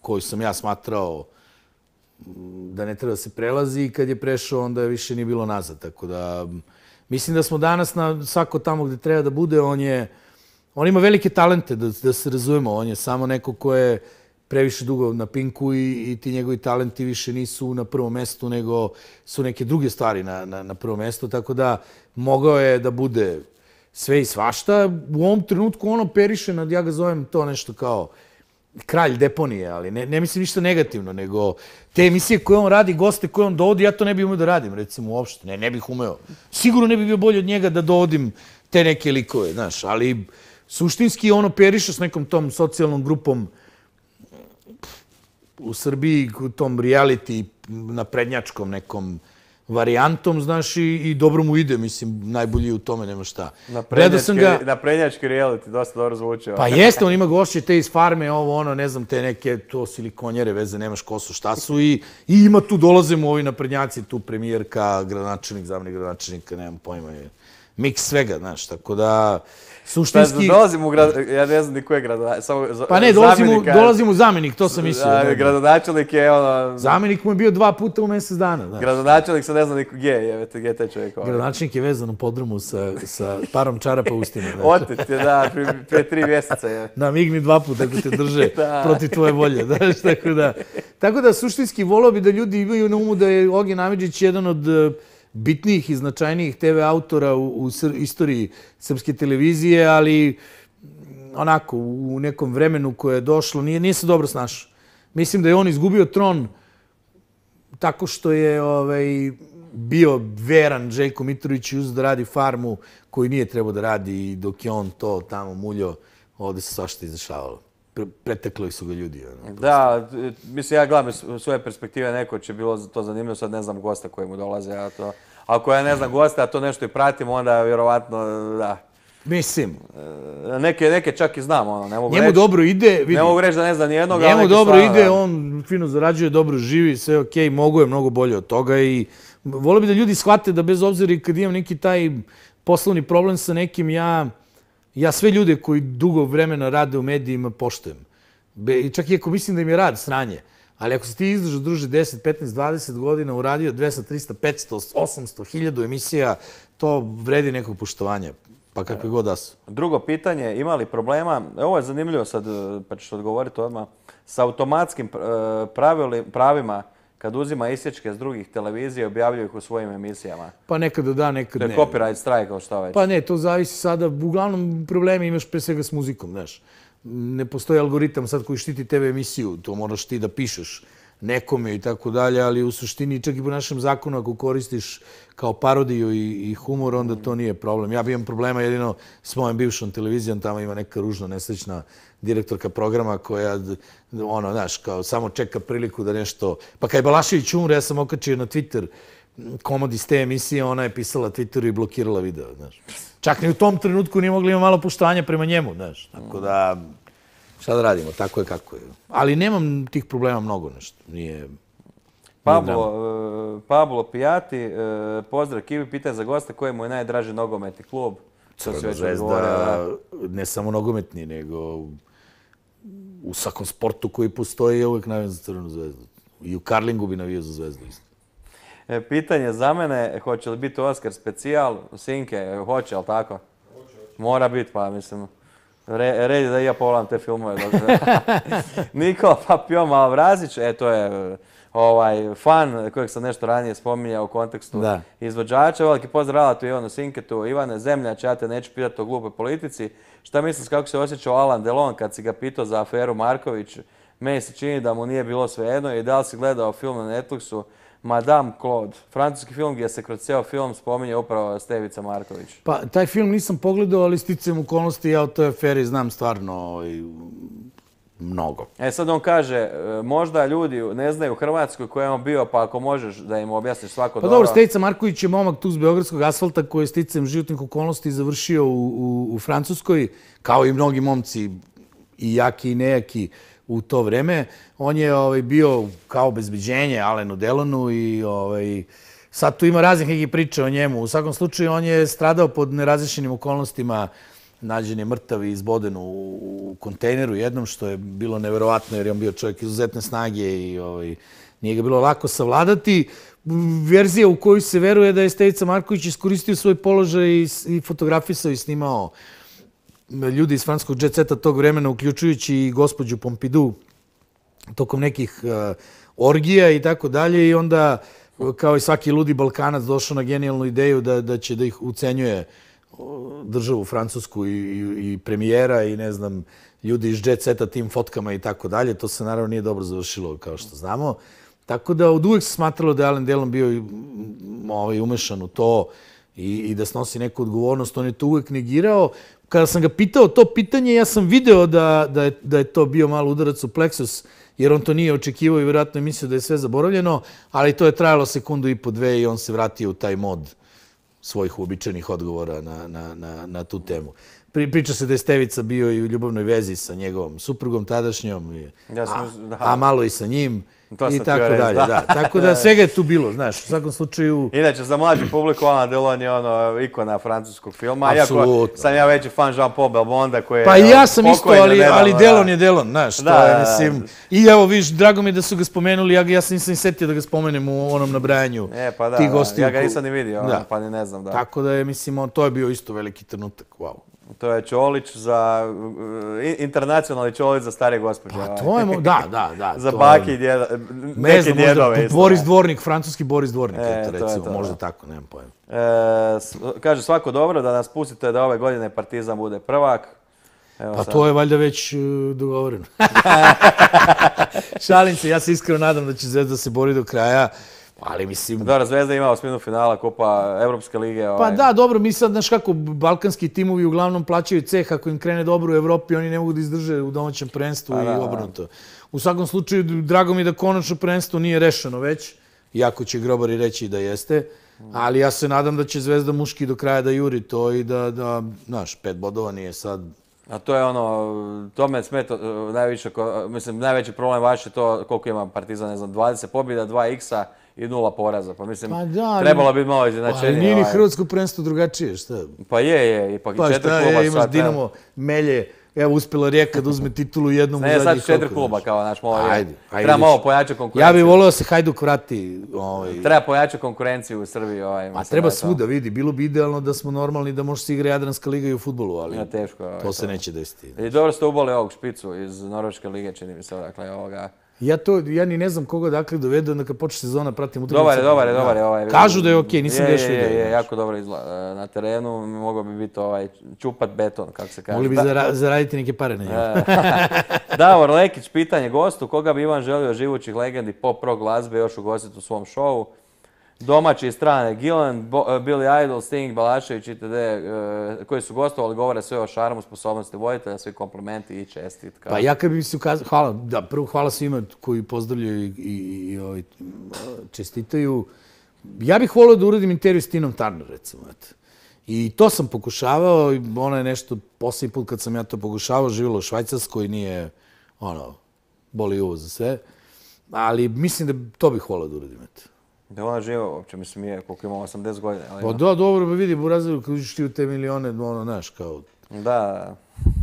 koju sam ja smatrao da ne treba da se prelazi i kad je prešao onda više nije bilo nazad. Tako da mislim da smo danas na svako tamo gde treba da bude, on ima velike talente da se razumemo. On je samo neko ko je previše dugo na Pinku i ti njegovi talenti više nisu na prvom mestu, nego su neke druge stvari na prvom mestu, tako da mogao je da bude sve i svašta. U ovom trenutku on operiše, ja ga zovem to nešto kao kralj deponije, ali ne mislim ništa negativno, nego te emisije koje on radi, goste koje on dovodi, ja to ne bih umeo da radim, recimo, uopšte. Ne bih umeo. Sigurno ne bih bio bolji od njega da dovodim te neke likove, znaš, ali suštinski on operiše s nekom tom socijalnom grupom u Srbiji, u tom reality naprednjačkom nekom varijantom, znaš, i dobro mu ide, mislim, najbolji u tome, nema šta. Naprednjački reality, dosta dobro zvuči. Pa jeste, on ima gošće te iz farme, ne znam, te neke, to silikonjere, veze, nemaš ko su, šta su, i ima tu, dolaze mu ovi naprednjaci, tu premijerka, gradonačelnik, zamenik gradonačelnika, nemam pojma, miks svega, znaš, tako da... Suštinski... Dolazim u ja ne znam ni ko je gradonačelnik. Pa ne, dolazim u zamenik, to sam mislio. Gradonačelnik je Zamenik mu je bio 2 puta u mjesec dana. Gradonačelnik se ne zna niko gdje je taj čovjek. Gradonačelnik je vezan u podrumu sa parom čarapa ustine. Otet je, da, prije 3 mjeseca je. Da, migni 2 puta ako te drže protiv tvoje volje. Tako da, suštinski volao bi da ljudi imaju na umu da je Ognjen Amidžić jedan od bitnijih i značajnijih TV autora u istoriji srpske televizije, ali onako, u nekom vremenu koje je došlo, nije se dobro snašao. Mislim da je on izgubio tron tako što je bio veran Željko Mitrović i uzeo da radi farmu koju nije trebao da radi, i dok je on to tamo muljao, ovde se svašta izdešavalo. Pretekli su ga ljudi. Da, mislim, ja gledam iz svoje perspektive, neko će bilo to zanimljivo, sad ne znam gosta koji mu dolaze, a to... Ako ja ne znam gosta, a to nešto i pratim, onda vjerovatno, da. Mislim. Neke čak i znam, ne mogu reći. Njemu dobro ide, vidi. Ne mogu reći da ne znam nijednog, ali njemu dobro ide, on fino zarađuje, dobro živi, sve okej, mogu je mnogo bolje od toga i volio bi da ljudi shvate da bez obzira i kad imam neki taj poslovni problem sa nekim, ja sve ljude koji dugo vremena rade u medijima poštujem. Čak i ako mislim da im je rad sranje. Ali ako si ti izdržao, druže, 10, 15, 20 godina, uradio 200, 300, 500, 800, 1000 emisija, to vredi nekog poštovanja, pa kakve god da su. Drugo pitanje, ima li problema, ovo je zanimljivo sad, pa ćeš odgovoriti odmah, sa automatskim pravima kad uzima isječke s drugih televizija i objavljuju ih u svojim emisijama? Pa nekada da, nekada ne. To je copyright strike, šta već? Pa ne, to zavisi sada. Uglavnom problemi imaš pre svega s muzikom, znaš. Ne postoji algoritam sad koji štiti TV emisiju, to moraš ti da pišeš nekome i tako dalje, ali u suštini čak i po našem zakonu ako koristiš kao parodiju i humor, onda to nije problem. Ja bi imam problema jedino s mojom bivšom televizijom, tamo ima neka ružna, nesrećna direktorka programa koja, znaš, kao samo čeka priliku da nešto... Pa kad je Balašević umre, ja sam okačio na Twitter komad iz te emisije, ona je pisala Twitteru i blokirala video, znaš. Čak ni u tom trenutku nije mogli imati malo poštovanja prema njemu, znaš. Tako da, šta da radimo, tako je kako je. Ali nemam tih problema mnogo, nešto. Nije... Pablo Pijati, pozdrav Kivi, pitanje za gosta, koji mu je najdraži nogometni klub? Crvena zvezda, ne samo nogometni, nego u svakom sportu koji postoji je uvijek navijam za Crvenu zvezdu. I u karlingu bi navijao za Zvezdu isto. Pitanje za mene, hoće li biti Oskar specijal? Sinke, hoće, ali tako? Mora biti, pa mislim. Red je da i ja pogledam te filmove. Nikola Papion Malvrazić, to je fan kojeg sam nešto ranije spominjao u kontekstu izvođača. Veliki pozdrav Alatu Ivanu Sinketu. Ivane Zemljač, ja te neću pitati o glupoj politici. Šta misliš kako se osjećao Alain Delon kad si ga pitao za aferu Marković? Meni se čini da mu nije bilo svejedno. I da li si gledao film na Netflixu Madame Claude. Francuski film gdje se kroz cijel film spominje upravo Stevica Marković. Pa, taj film nisam pogledao, ali sticajem okolnosti ja o toj aferi znam stvarno mnogo. Sad on kaže, možda ljudi ne znaju u Hrvatskoj koji je on bio, pa ako možeš da im objasniš svako dobro. Pa dobro, Stevica Marković je momak tu s Beogradskog asfalta koji je sticajem životnih okolnosti završio u Francuskoj, kao i mnogi momci, i jaki i nejaki u to vreme. On je bio kao obezbeđenje Alenu Delonu i sad tu ima raznih nekih priča o njemu. U svakom slučaju on je stradao pod nerazrešenim okolnostima. Nađen je mrtav i izboden u kontejneru jednom, što je bilo neverovatno jer je on bio čovjek izuzetne snage i nije ga bilo lako savladati. Verzija u koju se veruje da je Stevica Marković iskoristio svoj položaj i fotografisao i snimao ljudi iz francuskog jet seta tog vremena, uključujući i gospođu Pompidou, tokom nekih orgija i tako dalje. I onda, kao i svaki ludi Balkanac, došao na genijalnu ideju da će da ih ucenjuje državu Francusku i premijera i ne znam, ljudi iz jet seta tim fotkama i tako dalje. To se naravno nije dobro završilo, kao što znamo. Tako da od uvek se smatralo da je Alain Delon bio umešan u to i da snosi neku odgovornost. On je to uvek negirao. Kada sam ga pitao to pitanje, ja sam video da je to bio malo udarac u pleksus, jer on to nije očekivao i vjerojatno je mislio da je sve zaboravljeno, ali to je trajalo sekundu i po dve i on se vratio u taj mod svojih uobičajenih odgovora na tu temu. Priča se da je Stevica bio i u ljubavnoj vezi sa njegovom suprugom tadašnjom, a malo i sa njim. I tako dalje, da. Tako da svega je tu bilo, znaš, u svakom slučaju... Inače, za mlađu publiku, Alain Delon je ikona francuskog filma. Iako sam ja veći fan Jean-Paul Belmonda koji je... Pa i ja sam isto, ali Delon je Delon, znaš, to je, mislim... I evo, viš, drago mi je da su ga spomenuli, ja se nisam setio da ga spomenem u onom nabrajanju tih gostiju. Ja ga nisam ni vidio, pa ni ne znam, da. Tako da je, mislim, to je bio isto veliki trenutak, wow. To je Čolić za... internacionalni Čolić za stare gospođe. Pa to je... Da. Za baki i djeda... Neki djedove isto. Boris Dvornik, francuski Boris Dvornik, recimo, možda tako, nemam pojma. Kaže, svako dobro da nas pustite da ove godine Partizan bude prvak. Pa to je valjda već dogovoreno. Šalim se, ja se iskreno nadam da će Zvezda se bori do kraja. Ali mislim... Dobro, Zvezda ima osminu finala Kupa Evropske lige. Pa da, dobro, mi sad, znaš kako, balkanski timovi uglavnom plaćaju ceh, ako im krene dobro u Evropi, oni ne mogu da izdrže u domaćem prvenstvu i obrnuto. U svakom slučaju, drago mi da konačno prvenstvo nije rešeno već, iako će grobari reći da jeste, ali ja se nadam da će Zvezda muški do kraja da juri to i da znaš, 5 bodova nije sad... A to je to me smeta najviše, mislim, najveći problem vaš je to koliko ima Partizan, ne znam, 20 pobjeda, 2 x-a i 0 poraza. Pa mislim, trebalo bi malo iznenačenje. Ali nije ni hrvatsko prvenstvo drugačije, šta? Pa je, ipak i 4 kluba. Pa šta, imaš Dinamo, Melje, evo uspjela Rijeka da uzme titulu jednom u zadnjih koliko. Ne, sad 4 kluba kao, znaš, treba malo pojačati konkurenciju. Ja bih volio da se Hajduk vrati. Treba pojačati konkurenciju u Srbiji. A treba svuda, vidi, bilo bi idealno da smo normalni da može se igra Jadranska liga i u fudbalu, ali to se neće desiti. I dobro ste uboli ovog špicu iz Norveške lige, čini mi se, dakle, ovoga... Ja ni ne znam koga dakle dovedu, onda kad počne sezona pratim utakmice. Dobar je. Kažu da je okej, nisam ga još vidio. Je, jako dobro izgleda. Na terenu mogao bi biti čupat beton, kako se kaže. Mogli bi zaraditi neke pare na njemu. Davor Lekić, pitanje gostu, koga bi Ivan želio živućih legendi pop rock glazbe još ugostiti u svom šovu? Domaći i strane, Gillan, Billy Idol, Sting, Balašević itd. Koji su gostovali, govore sve o šarmu, sposobnosti voditelja, svi komplimenti i čestitka. Pa ja kad bi se ukazao, hvala, da, prvo hvala svima koji pozdravljaju i čestitaju. Ja bih volio da uradim intervju s Tinom Turner, recimo. I to sam pokušavao, ono je nešto, posljednji put kad sam ja to pokušavao, živjela u Švajcarskoj, nije, boli uvo za sve. Ali mislim da to bih volio da uradim, Da ona živa uopće, mislim je koliko ima 80 godina. Pa da, dobro, pa vidi, u razredu kad uđeš ti u te milione, znaš, kao... Da.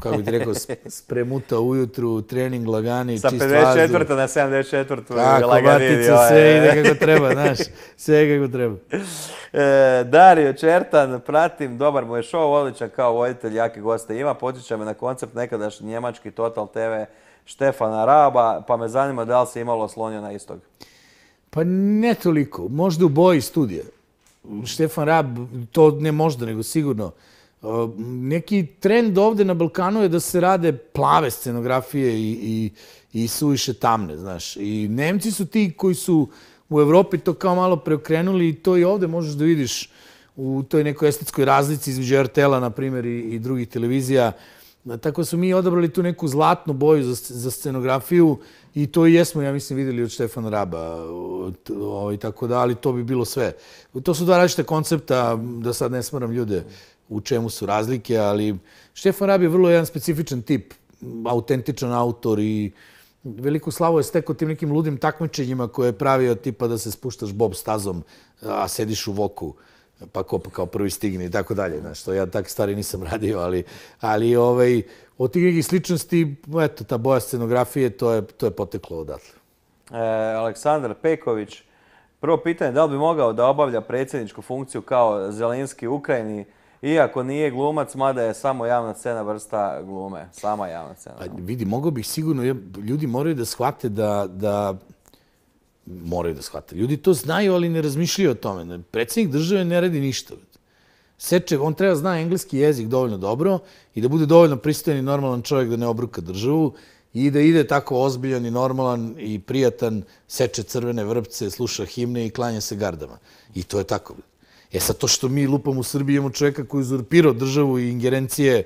Kako bi ti rekao, spremuta ujutru, trening lagani, čist vazduh. Sa 54. na 74. Tako, batica, sve ide kako treba, znaš, sve kako treba. Dario Čertan, pratim, dobar mu je šov, odličan kao voditelj, jaki goste ima, podsjeća me na koncept nekadašnji njemački Total TV Štefana Raba, pa me zanima da li se imalo oslonio na istog. Pa ne toliko, možda u boji studija. Štefan Rab, to ne možda, nego sigurno. Neki trend ovde na Balkanu je da se rade plave scenografije i suviše tamne, znaš. I Nemci su ti koji su u Evropi to kao malo preokrenuli i to i ovde možeš da vidiš u toj nekoj estetskoj razlici između RTL-a, na primjer, i drugih televizija. Tako su mi odabrali tu neku zlatnu boju za scenografiju i to i jesmo, ja mislim, videli od Štefana Raba i tako da, ali to bi bilo sve. To su dva različite koncepta, da sad ne smaram ljude u čemu su razlike, ali Štefan Rab je vrlo jedan specifičan tip, autentičan autor i veliku slavu je stekao tim nekim ludim takmičenjima koje je pravio tipa da se spuštaš bob stazom, a sediš u voku, pa ko kao prvi stigne i tako dalje. Znaš, to ja takve stvari nisam radio, ali od tih nekih sličnosti, eto, ta boja scenografije, to je poteklo odatle. Aleksandar Peković, prvo pitanje, da li bi mogao da obavlja predsjedničku funkciju kao Zelenski u Ukrajini, iako nije glumac, mada je samo javna scena vrsta glume. Sama javna scena. Vidi, mogao bih sigurno, ljudi moraju da shvate moraju da shvate. Ljudi to znaju, ali ne razmišljaju o tome. Predsjednik države ne radi ništa. On treba zna engleski jezik dovoljno dobro i da bude dovoljno pristojan i normalan čovjek da ne obruka državu i da ide tako ozbiljan i normalan i prijatan, seče crvene vrpce, sluša himne i klanja se gardama. I to je tako. Sad to što mi lupamo u Srbiji imamo čovjeka koji je uzurpirao državu i ingerencije.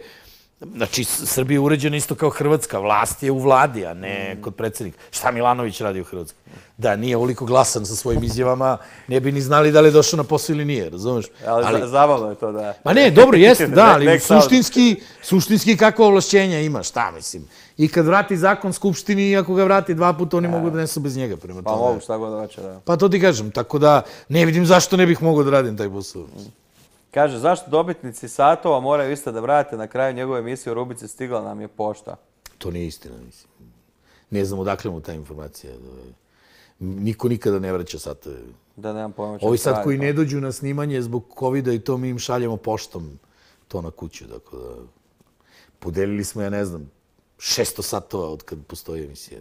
Znači, Srbija je uređena isto kao Hrvatska. Vlast je u vladi, a ne kod predsjednika. Šta Milanović radi u Hrvatskoj? Da nije ovoliko glasan sa svojim izjavama, ne bi ni znali da li je došao na posao ili nije, razumeš? Ali zabavno je to, da. Ma ne, dobro, jeste, da, ali suštinski kakva ovlašćenja ima, šta mislim. I kad vrati zakon Skupštini, i ako ga vrati 2 puta, oni mogu da nesu bez njega. Pa mogu, šta god hoće, da. Pa to ti kažem, tako da ne vidim zašto ne bih mogao da radim taj posao. Kaže, zašto dobitnici satova moraju isto da vrate na kraju njegove emisije u rubrici Stigla nam je pošta? To nije istina, mislim. Ne znam odakle mu ta informacija. Niko nikada ne vraća satove. Da, nemam pojma. Ovi sad koji ne dođu na snimanje zbog COVID-a i to mi im šaljemo poštom to na kuću. Tako da, podelili smo, ja ne znam, 600 satova od kad postoji emisija.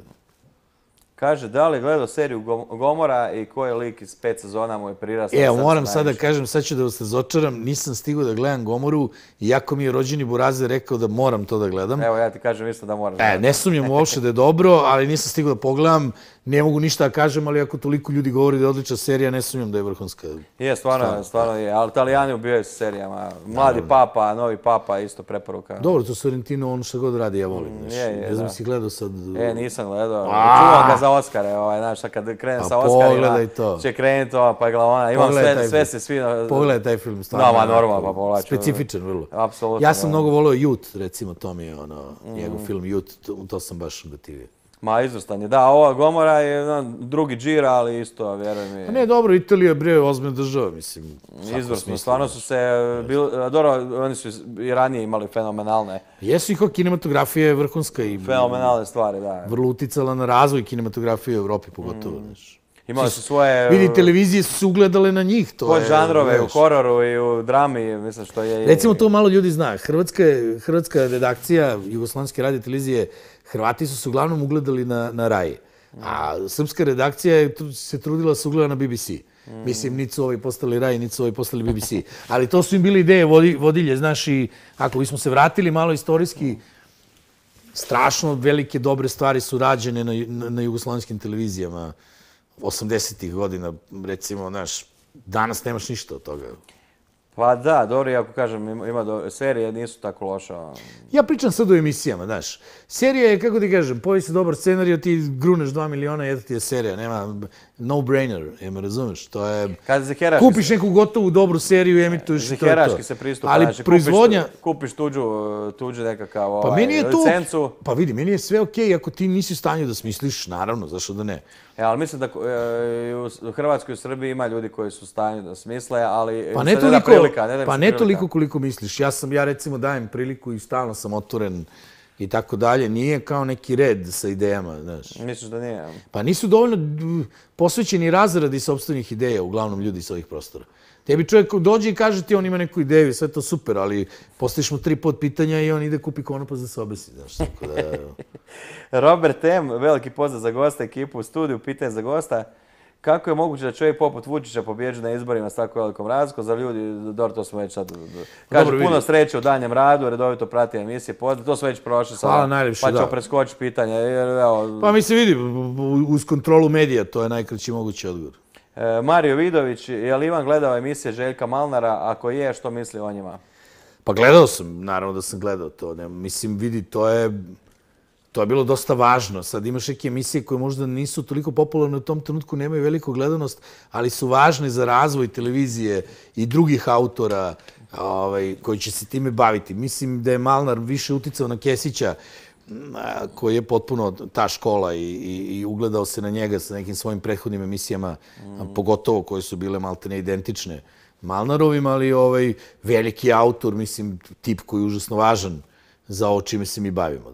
Kaže, da li je gledao seriju Gomora i koji lik iz 5 sezona mu je prirastao? Evo, moram sad da kažem, sad ću da vas razočaram, nisam stigao da gledam Gomoru, iako mi je rođeni Burazer rekao da moram to da gledam. Evo, ja ti kažem isto da moram. Ne sumnjam uopšte da je dobro, ali nisam stigao da pogledam. Ne mogu ništa da kažem, ali ako toliko ljudi govori da je odlična serija, ne sumnjam da je vrhunska. Je, stvarno je. Ali Italijani ubijaju se serijama. Mladi papa, novi papa, isto preporuka. Dobro, to Sorrentino, ono što god radi, ja volim. Ne znam si gledao sad... Nisam gledao. Čuvam ga za Oskare, znaš, kad krenem sa Oskarima, će krenuti pa je glavona. Imam sve se svi... Pogledaj taj film, stvarno. Da, normalno, pa povlaču. Specifičan, vrlo. Apsolutno. Ja sam mnogo volio Youth, recimo, to mi je njegov film Youth, to sam baš gotivio. Ma, izvrstan je. Da, ova Gomora je drugi džira, ali isto, vjeruj mi. Ne, dobro, Italija bre ozbiljna država, mislim. Izvrsno, stvarno su se... Dobro, oni su i ranije imali fenomenalne... Jesu i kao kinematografija je vrhunska i... Fenomenalne stvari, da. Vrlo uticala na razvoj kinematografije u Evropi, pogotovo, znaš. Imali su svoje... Vidi, televizije su se ugledale na njih, to je... Pod žanrove, u hororu i u drami, mislim što je... Recimo, to malo ljudi zna. Hrvatska redakcija Jugoslovenske radio televizije, Hrvati su se uglavnom ugledali na Rai. A srpska redakcija se trudila se ugleda na BBC. Mislim, niti su ovi postali Rai, niti su ovi postali BBC. Ali to su im bile ideje vodilje, znaš, i ako bismo se vratili malo istorijski, strašno velike, dobre stvari su rađene na jugoslovenskim televizijama 80-ih godina, recimo, znaš, danas nemaš ništa od toga. Pa da, dobro, ako kažem, serije nisu tako loše. Ja pričam sad o emisijama, znaš. Serija je, kako ti kažem, pojavi se dobar scenarij, ti gruneš 2 miliona, jedna ti je serija, nema no-brainer, me razumeš, to je... Kupiš neku gotovu dobru seriju i emituješ i to je to. Ziheraški se pristupa, znači kupiš tuđu nekakav licencu. Pa vidi, meni je sve okej ako ti nisi u stanju da smisliš, naravno, zašto da ne. Ali mislim da u Hrvatskoj i u Srbiji ima ljudi koji su u stanju da smisle, ali pa ne toliko koliko misliš. Ja recimo dajem priliku i stalno sam otvoren i tako dalje. Nije kao neki red sa idejama, znaš. Misliš da nije? Pa nisu dovoljno posvećeni razradi sopstvenih ideja, uglavnom ljudi sa ovih prostora. Tebi čovjek dođe i kaže ti on ima neku ideju, sve to super, ali postaviš mu 3 podpitanja i on ide kupi konopac da se obesi, znaš, tako da... Robert M., veliki pozdrav za gosta, ekipu u studiju, pitanje za gosta. Kako je moguće da čovjek poput Vučića pobjeđe na izborima s tako velikom razlikom? Za ljudi, dobro, to smo već sad... Kaže, puno sreće u danjem radu, redovito prati emisije, to smo već prošli sada, pa ćemo preskočiti pitanje. Pa mi se vidi, uz kontrolu medija, to je najkraći mogući odgovor. Mario Vidović, je li Ivan gledao emisije Željka Malnara? Ako je, što misli o njima? Pa gledao sam, naravno da sam gledao to. Mislim, vidi, to je bilo dosta važno. Sad imaš neke emisije koje možda nisu toliko popularne u tom trenutku, nemaju veliku gledanost, ali su važne za razvoj televizije i drugih autora koji će se time baviti. Mislim da je Malnar više uticao na Kesića, koji je potpuno ta škola i ugledao se na njega sa nekim svojim prethodnim emisijama, pogotovo koje su bile maltene identične Malnarovim, ali veliki autor, mislim, tip koji je užasno važan za ovo čime se mi bavimo.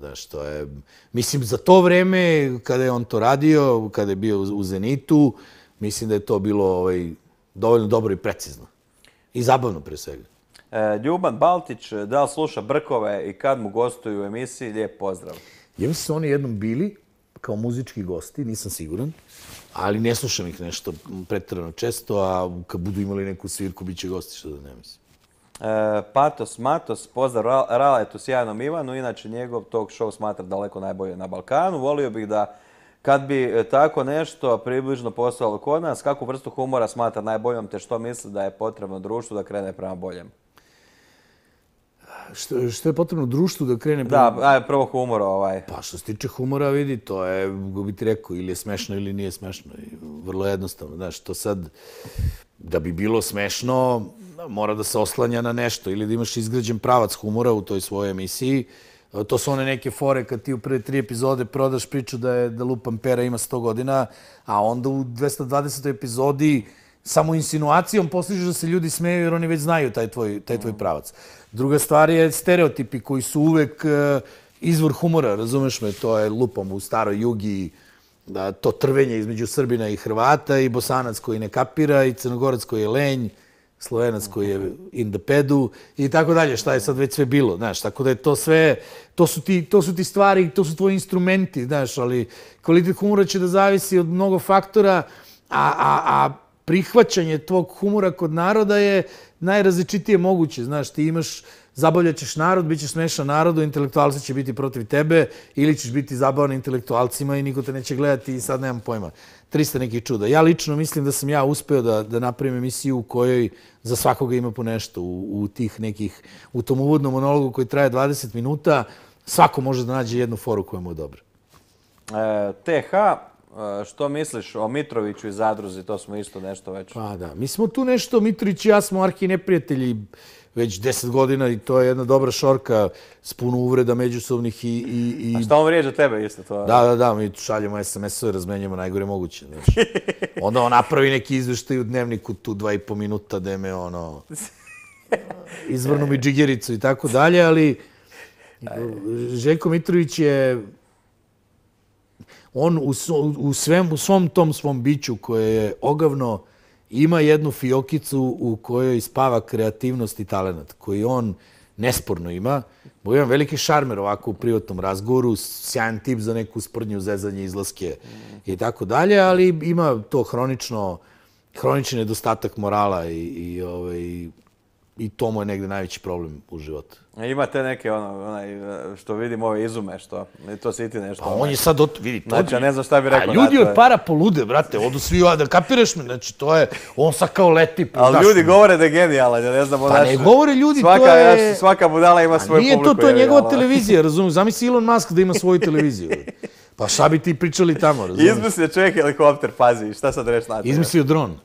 Mislim, za to vreme, kada je on to radio, kada je bio u Zenitu, mislim da je to bilo dovoljno dobro i precizno. I zabavno, pre svega. Ljuban Baltić, da li sluša Brkove i kad mu gostuju u emisiji? Lijep pozdrav. Ja mislim su oni jednom bili kao muzički gosti, nisam siguran, ali ne slušam ih nešto preterano često, a kad budu imali neku svirku, bit će gosti, što da ne mislim. Patos Matos, pozdrav Raletu sjajnom Ivanu, inače njegov talk show smatra daleko najbolje na Balkanu. Volio bih da kad bi tako nešto približno postojalo kod nas, kakvu vrstu humora smatra najboljom, te što misli da je potrebno društvu da krene prema boljem? Što je potrebno društvu da krene prema... Da, prvo humor Pa što se tiče humora, vidi, to je, kako bi ti rekao, ili je smešno ili nije smešno. Vrlo jednostavno, znaš, to sad, da bi bilo smešno, mora da se oslanja na nešto ili da imaš izgrađen pravac humora u toj svojoj emisiji. To su one neke fore kad ti u prve 3 epizode prodaš priču da lupam pera ima 100 godina, a onda u 220. epizodi samo insinuacijom postižeš da se ljudi smeju jer oni već znaju taj tvoj pravac. Druga stvar je stereotipi koji su uvek izvor humora, razumeš me, to je lupam u staroj Jugi, to trvenje između Srbina i Hrvata i Bosanac koji ne kapira i Crnogorac koji je lenj, Slovenac koji je in the pedu i tako dalje, šta je sad već sve bilo, znaš, tako da je to sve, to su ti stvari, to su tvoji instrumenti, znaš, ali kvalitet humora će da zavisi od mnogo faktora, a prihvaćanje tvog humora kod naroda je najrazličitije moguće, znaš, ti imaš, zabavljaćeš narod, bit ćeš smešan narodu, intelektualci će biti protiv tebe ili ćeš biti zabavan intelektualcima i niko te neće gledati i sad nemam pojma. 300 nekih čuda. Ja lično mislim da sam ja uspeo da napravim emisiju u kojoj za svakoga ima po nešto. U tom uvodnom monologu koji traje 20 minuta, svako može da nađe jednu foru koja mu je dobra. TH, što misliš o Mitroviću i Zadruzi? To smo isto nešto već... Pa da, mi smo tu nešto, Mitrović i ja smo arhi neprijatelji već 10 godina i to je jedna dobra šorka s puno uvreda međusobnih i... A šta on vrijeđa tebe isto to? Da, mi šaljemo SMS-ove, razmenjujemo najgore moguće. Onda on napravi neki izveštaj u dnevniku tu 2,5 minuta da me izvrnu mi džigericu i tako dalje, ali Željko Mitrović je... On u svom tom svom biću koje je ogavno ima jednu fiokicu u kojoj spava kreativnost i talenat, koji on nesporno ima. Bo imam veliki šarmer ovako u privatnom razgovoru, sjajan tip za neku sprdnju, zezanje, izlaske i tako dalje, ali ima to hronični nedostatak morala i to mu je negde najveći problem u životu. Imate neke, što vidim ove izume, što to si ti nešto... Pa on je sad, vidi, to... Znači, ja ne znam šta bi rekao. A ljudi od para polude, brate, odu svi, da kapiraš me, znači, to je, on sad kao leti... Ali ljudi govore da je genijalan, ja ne znam... Pa ne govore ljudi, to je... Svaka budala ima svoju publiku. Nije to je njegova televizija, razumiješ, zamisli Elon Musk da ima svoju televiziju. Pa šta bi ti pričali tamo, razumiješ? Izmislio čovjek helikopter, pazi, šta sad reći na to? Izmislio dron.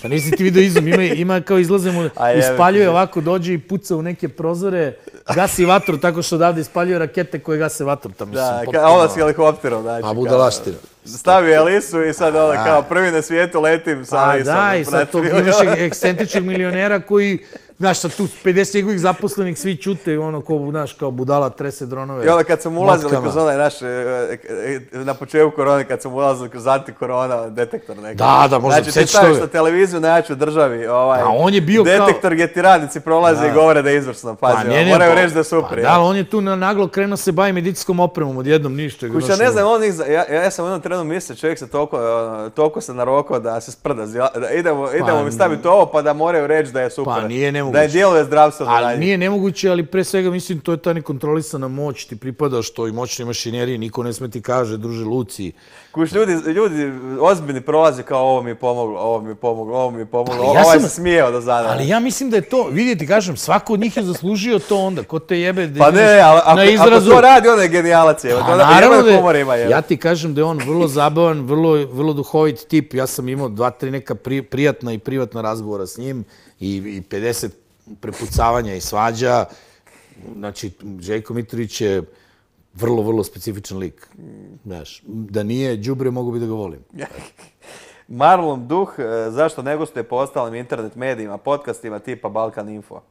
Pa nisi ti vidio izum, ima kao izlaze mu, ispaljuje ovako, dođe i puca u neke prozore, gasi vatru tako što odavde ispaljuje rakete koje gase vatru. Da, onda s helikopterom, znači. A budalaština. Stavio Elisu i sad kao prvi na svijetu letim sa Elisom. Da, i sad to imaš ekscentričnog milionera koji... Znaš, sad tu 50 njegovih zaposlenih svi čute i znaš, kao budala trese dronove. I onda kad sam ulazili kroz onaj naš, na početku korone, kad sam ulazili kroz antikorona detektor nekako. Da, možda znači, ti staviš na televiziju na jačoj državi, on je bio detektor gdje ti radnici prolaze i govore da je izvrsno. Pazi, moraju reći da je super. Da, on je tu naglo krenuo se bavi medicinskom opremom odjednom ništa. Kuća, ne znam, ja sam u jednom trenu mislio, čovjek se toliko se narokao da se sprda. Idemo mi staviti ovo pa da moraju reći da je super. Pa nije nemoguće. Da je djeluje zdravstveno. Ali nije nemoguće, ali pre svega mislim to je ta nekontrolisana moć, ti pripadaš toj moćnoj mašineriji, niko ne sme ti kaže, druže Luci. Kuš, ljudi ozbiljni prolaze kao ovo mi je pomoglo, ovaj se smijeo do zada. Ali ja mislim da je to, vidjeti, kažem, svako od njih je zaslužio to onda, ko te jebe pa ne, ako to radi, onda je genijalac je. Ja ti kažem da je on vrlo zabavan, vrlo duhovit tip. Ja sam imao 2-3 neka prijatna i privatna razgovora s njim i 50 prepucavanja i svađa. Znači, Željko Mitrović je vrlo specifičan lik. Znaš, da nije đubre, mogu bi da ga volim. Marlon Duh, zašto ne gostuje po ostalim internet medijima, podcastima tipa Balkan Info?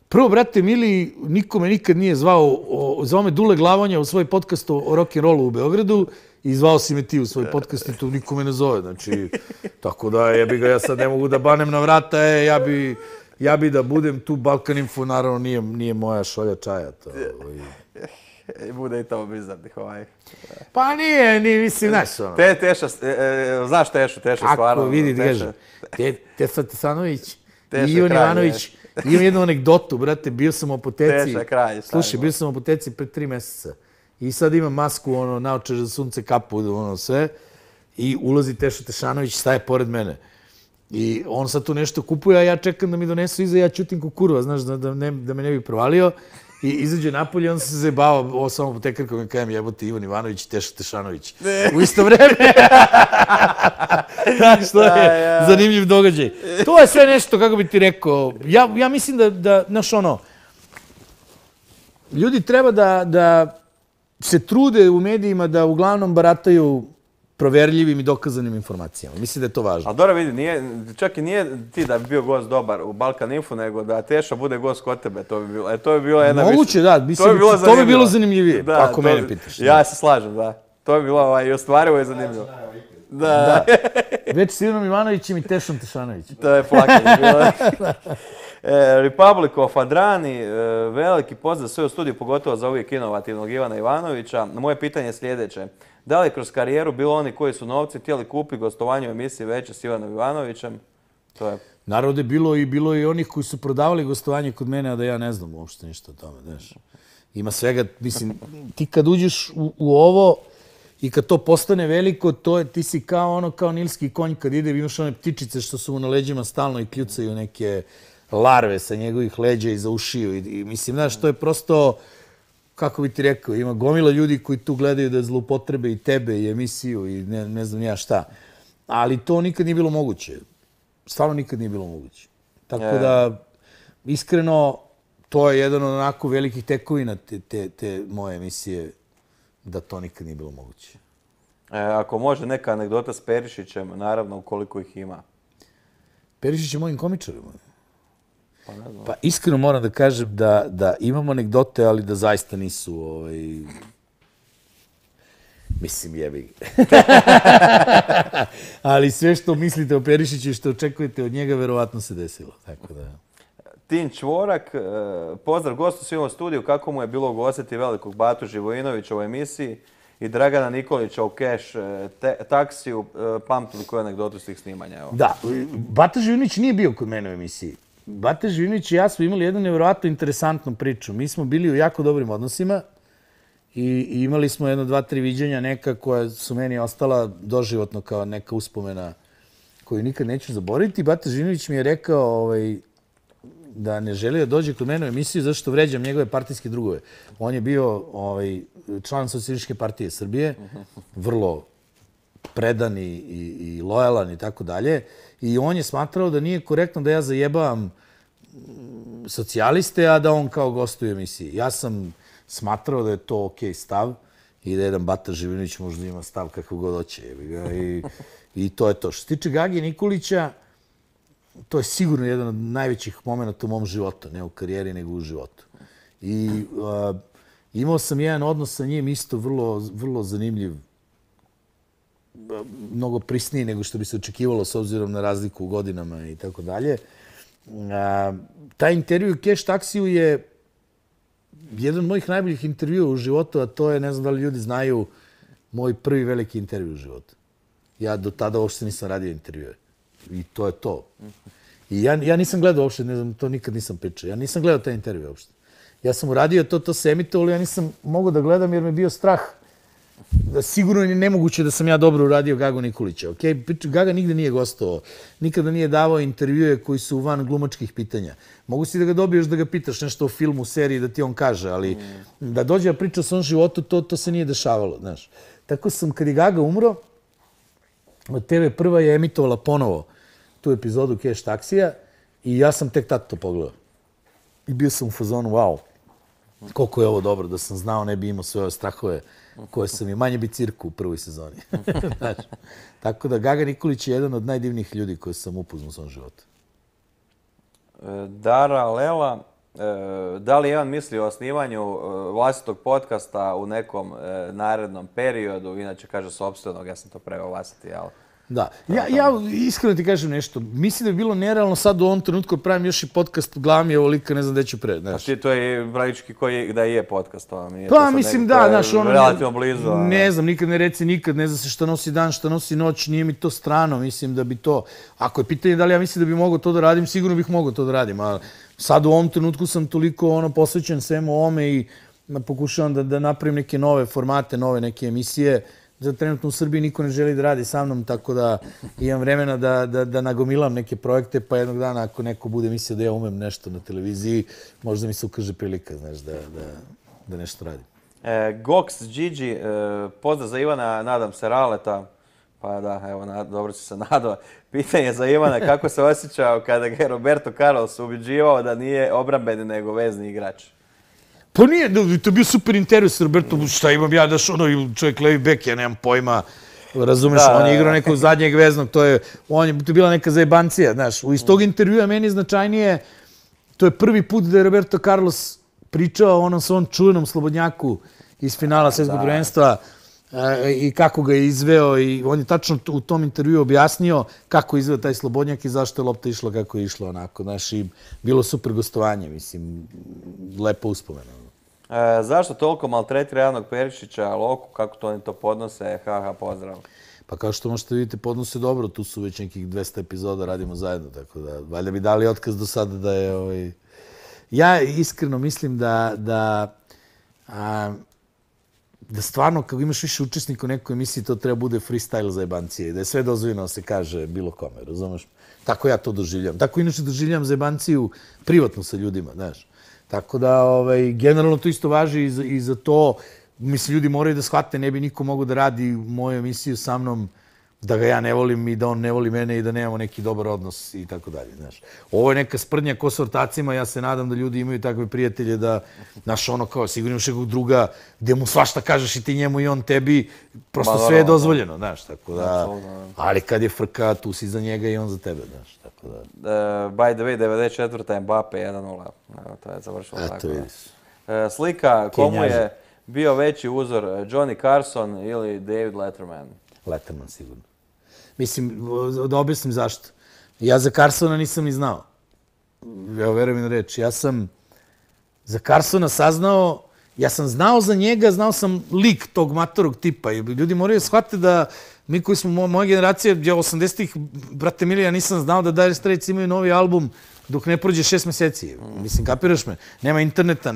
Prvo, brate, mili, niko me nikad nije zvao me Dule Glavonja u svoj podcast o rock'n'rollu u Beogradu i zvao si me ti u svoj podcast i tu niko me ne zove. Znači, tako da ja sad ne mogu da banem na vrata, ja bi da budem tu Balkan Info, naravno nije moja šolja čaja. Bude i to bizarnih Pa nije, mislim, znaš ono. Teša, znaš Tešu stvarno. Ako vidi, kaže, Tesa Tesanović i Ivan Ivanović, imam jednu anegdotu, brate, bio sam u apoteci. Teša kralj. Slušaj, bio sam u apoteci pre 3 mjeseca i sad imam masku, naočar za sunce, kapu, sve, i ulazi Teša Tešanović, staje pored mene. I on sad tu nešto kupuje, a ja čekam da mi donesu iza, ja ćutim ko kurva, znaš, da me ne bi provalio. I izađe napolje, on se zajebao, ovo samo apotekarkom i kajem jebote Ivan Ivanović i Teša Tešanović. U isto vreme. Znaš, to je zanimljiv događaj. To je sve nešto, kako bi ti rekao, ja mislim da, znaš ono, ljudi treba da se trude u medijima da uglavnom barataju proverljivim i dokazanim informacijama. Mislim da je to važno. Ali dobro vidi, čak i nije ti da bi bio gost dobar u Balkan Info, nego da Teša bude gost kod tebe. To bi bilo jedna... Moguće, da. To bi bilo zanimljivije, ako mene pitaš. Ja se slažem, da. To bi bilo i ostvarivo i zanimljivo. Da. Već s Ivanom Ivanovićem i Tešom Tešanovićem. To je plakanje bilo. Republic of Adrani, veliki pozdrav sve u studiju, pogotovo za uvijek inovativnog Ivana Ivanovića. Moje pitanje je sljedeće. Da li kroz karijeru bilo oni koji su novci htjeli kupiti gostovanje u emisiji Veče s Ivanom Ivanovićem? Naravno je bilo i onih koji su prodavali gostovanje kod mene, a da ja ne znam uopšte ništa o tome. Znaš. Ima svega, mislim, ti kad uđeš u ovo i kad to postane veliko, ti si kao nilski konj kad ide, imaš one ptičice što su mu na leđima stalno i kljucaju neke larve sa njegovih leđa i za ušiju. I mislim, znaš, to je prosto... Kako bi ti rekao, ima gomila ljudi koji tu gledaju da zloupotrebe i tebe i emisiju i ne znam ja šta. Ali to nikad nije bilo moguće. Stvarno nikad nije bilo moguće. Tako da, iskreno, to je jedan od onako velikih tekovina te moje emisije, da to nikad nije bilo moguće. Ako može neka anegdota s Perišićem, naravno, koliko ih ima. Perišić je mojim komičarima. Pa iskreno moram da kažem da imamo anegdote, ali da zaista nisu, mislim, jebi. Ali sve što mislite o Perišiću i što očekujete od njega, verovatno se desilo. Tako da... Tin Čvorak, pozdrav gostu svima u studiju, kako mu je bilo ugostiti velikog Batu Živojinovića u emisiji i Dragana Nikolića u Cash taksiju, pamtili koju anegdotu s tih snimanja? Da, Bata Živojinović nije bio kod mene u emisiji. Bata Živinić i ja smo imali jednu nevjerojatno interesantnu priču. Mi smo bili u jako dobrim odnosima i imali smo 1, 2, 3 viđenja neka koja su meni ostala doživotno kao neka uspomena koju nikad neću zaboraviti. Bata Živinić mi je rekao da ne želi da dođe kod mene u emisiju zato što vređam njegove partijske drugove. On je bio član Socijalističke partije Srbije, vrlo predan i lojalan i tako dalje. I on je smatrao da nije korektno da ja zajebavam socijaliste, a da on kao gostuje u emisiji. Ja sam smatrao da je to okej stav i da jedan Bata Živinović možda ima stav kakav god hoće. I to je to. Što se tiče Gage Nikolića, to je sigurno jedan od najvećih momenta u mom životu. Ne u karijeri, nego u životu. I imao sam jedan odnos sa njim isto vrlo zanimljiv. Mnogo prisniji nego što bi se očekivalo s obzirom na razliku u godinama i tako dalje. Taj intervju u Cash taksiju je jedan od mojih najboljih intervjua u životu, a to je, ne znam da li ljudi znaju, moj prvi veliki intervju u životu. Ja do tada uopšte nisam radio intervjue. I to je to. I ja nisam gledao uopšte, ne znam, to nikad nisam pričao. Ja nisam gledao taj intervju uopšte. Ja sam uradio to se emitovalo, ja nisam mogao da gledam jer me bio strah. Sigurno je nemoguće da sam ja dobro uradio Gagu Nikolića. Okay? Gaga nigde nije gostovao, nikada nije davao intervjue koji su van glumačkih pitanja. Mogu si da ga dobiješ da ga pitaš nešto o filmu, seriji, da ti on kaže, ali da dođe da priča o svom životu, to se nije dešavalo. Znaš. Tako sam, kad je Gaga umro, TV Prva je emitovala ponovo tu epizodu Cash taksija i ja sam tek tad to pogledao. I bio sam u fazonu, wow, koliko je ovo dobro, da sam znao, ne bi imao sve ove strahove koje sam i manje bi cirku u prvoj sezoni. Znaš, tako da Gaga Nikolić je jedan od najdivnijih ljudi koje sam upoznao u svom životu. Dara Lela, da li Ivan misli o osnivanju vlastitog podcasta u nekom narednom periodu? Inače kaže sopstvenog, ja sam to preveo vlastiti, jel? Da. Ja iskreno ti kažem nešto. Mislim da bi bilo nerealno sad u ovom trenutku pravim još i podcast u glavi je ovolika, ne znam gde ću pre. A ti to je praktički da je podcast. Pa mislim da, znaš, ono... Relativno blizu. Ne znam, nikad ne reci nikad, ne zna se šta nosi dan, šta nosi noć, nije mi to strano, mislim da bi to... Ako je pitanje da li ja mislim da bi mogao to da radim, sigurno bih mogao to da radim, ali sad u ovom trenutku sam toliko posvećen svemu ovome i pokušavam da napravim neke nove formate, nove neke emisije. Trenutno u Srbiji niko ne želi da radi sa mnom, tako da imam vremena da nagomilam neke projekte, pa jednog dana ako neko bude mislio da ja umem nešto na televiziji, možda mi se ukaže prilika, znaš, da nešto radim. Gox Gigi, pozdrav za Ivana, nadam se Raleta. Pa da, evo, dobro si se nadao. Pitanje za Ivana, kako se osjećao kada ga je Roberto Carlos ubeđivao da nije obrambeni nego vezni igrač? Pa nije, to je bio super intervju s Robertom, šta imam ja, daš čovjek levi bek, ja nemam pojma, razumeš, on je igrao nekog zadnjeg veznog, to je bila neka zajebancija, znaš. Iz tog intervjua meni značajnije, to je prvi put da je Roberto Carlos pričao o onom svom čuvenom slobodnjaku iz finala svjetskog prvenstva i kako ga je izveo i on je tačno u tom intervjuu objasnio kako je izveo taj slobodnjak i zašto je lopta išla kako je išla, onako, znaš, i bilo super gostovanje, mislim, lepo uspomeno. Zašto toliko maltretira Javnog Perišića, Loku, kako to oni to podnose? Haha, pozdrav. Pa kao što možete vidjeti, podnose dobro, tu su već nekih 200 epizoda, radimo zajedno, tako da valjda bi dali otkaz do sada da je... Ja iskreno mislim da stvarno, kako imaš više učesnika u nekoj emisiji, to treba bude freestyle za jebancije, da je sve dozvoljeno se kaže bilo kome, razumeš? Tako ja to doživljam. Tako inače doživljam za jebanciju privatno sa ljudima, znaš. Tako da, generalno to isto važi i za to. Mislim, ljudi moraju da shvate, ne bi niko mogao da radi moju emisiju sa mnom, da ga ja ne volim i da on ne voli mene i da nemamo neki dobar odnos i tako dalje, znaš. Ovo je neka sprdnja ko s ortacima, ja se nadam da ljudi imaju takve prijatelje da, znaš, ono kao, sigurno imaš nekog druga gdje mu svašta kažeš i ti njemu i on tebi, prosto sve je dozvoljeno, znaš, tako da, ali kad je frka, tu si za njega i on za tebe, znaš, tako da. By the way, 94. Mbappe 1-0, to je završilo tako. Eto vidiš. Slika, komu je bio veći uzor, Johnny Carson ili David Letterman? Letterman, sigurno. Mislim, da objasnim zašto. Ja za Carsona nisam ni znao. Evo, verujem mi na reč. Ja sam za Carsona saznao, ja sam znao za njega, znao sam lik tog matorog tipa. I ljudi moraju shvatiti da mi koji smo moja generacija, 80-ih, brate mili, ja nisam znao da Dire Straits imaju novi album dok ne prođe 6 meseci. Mislim, kapiraš me? Nema interneta,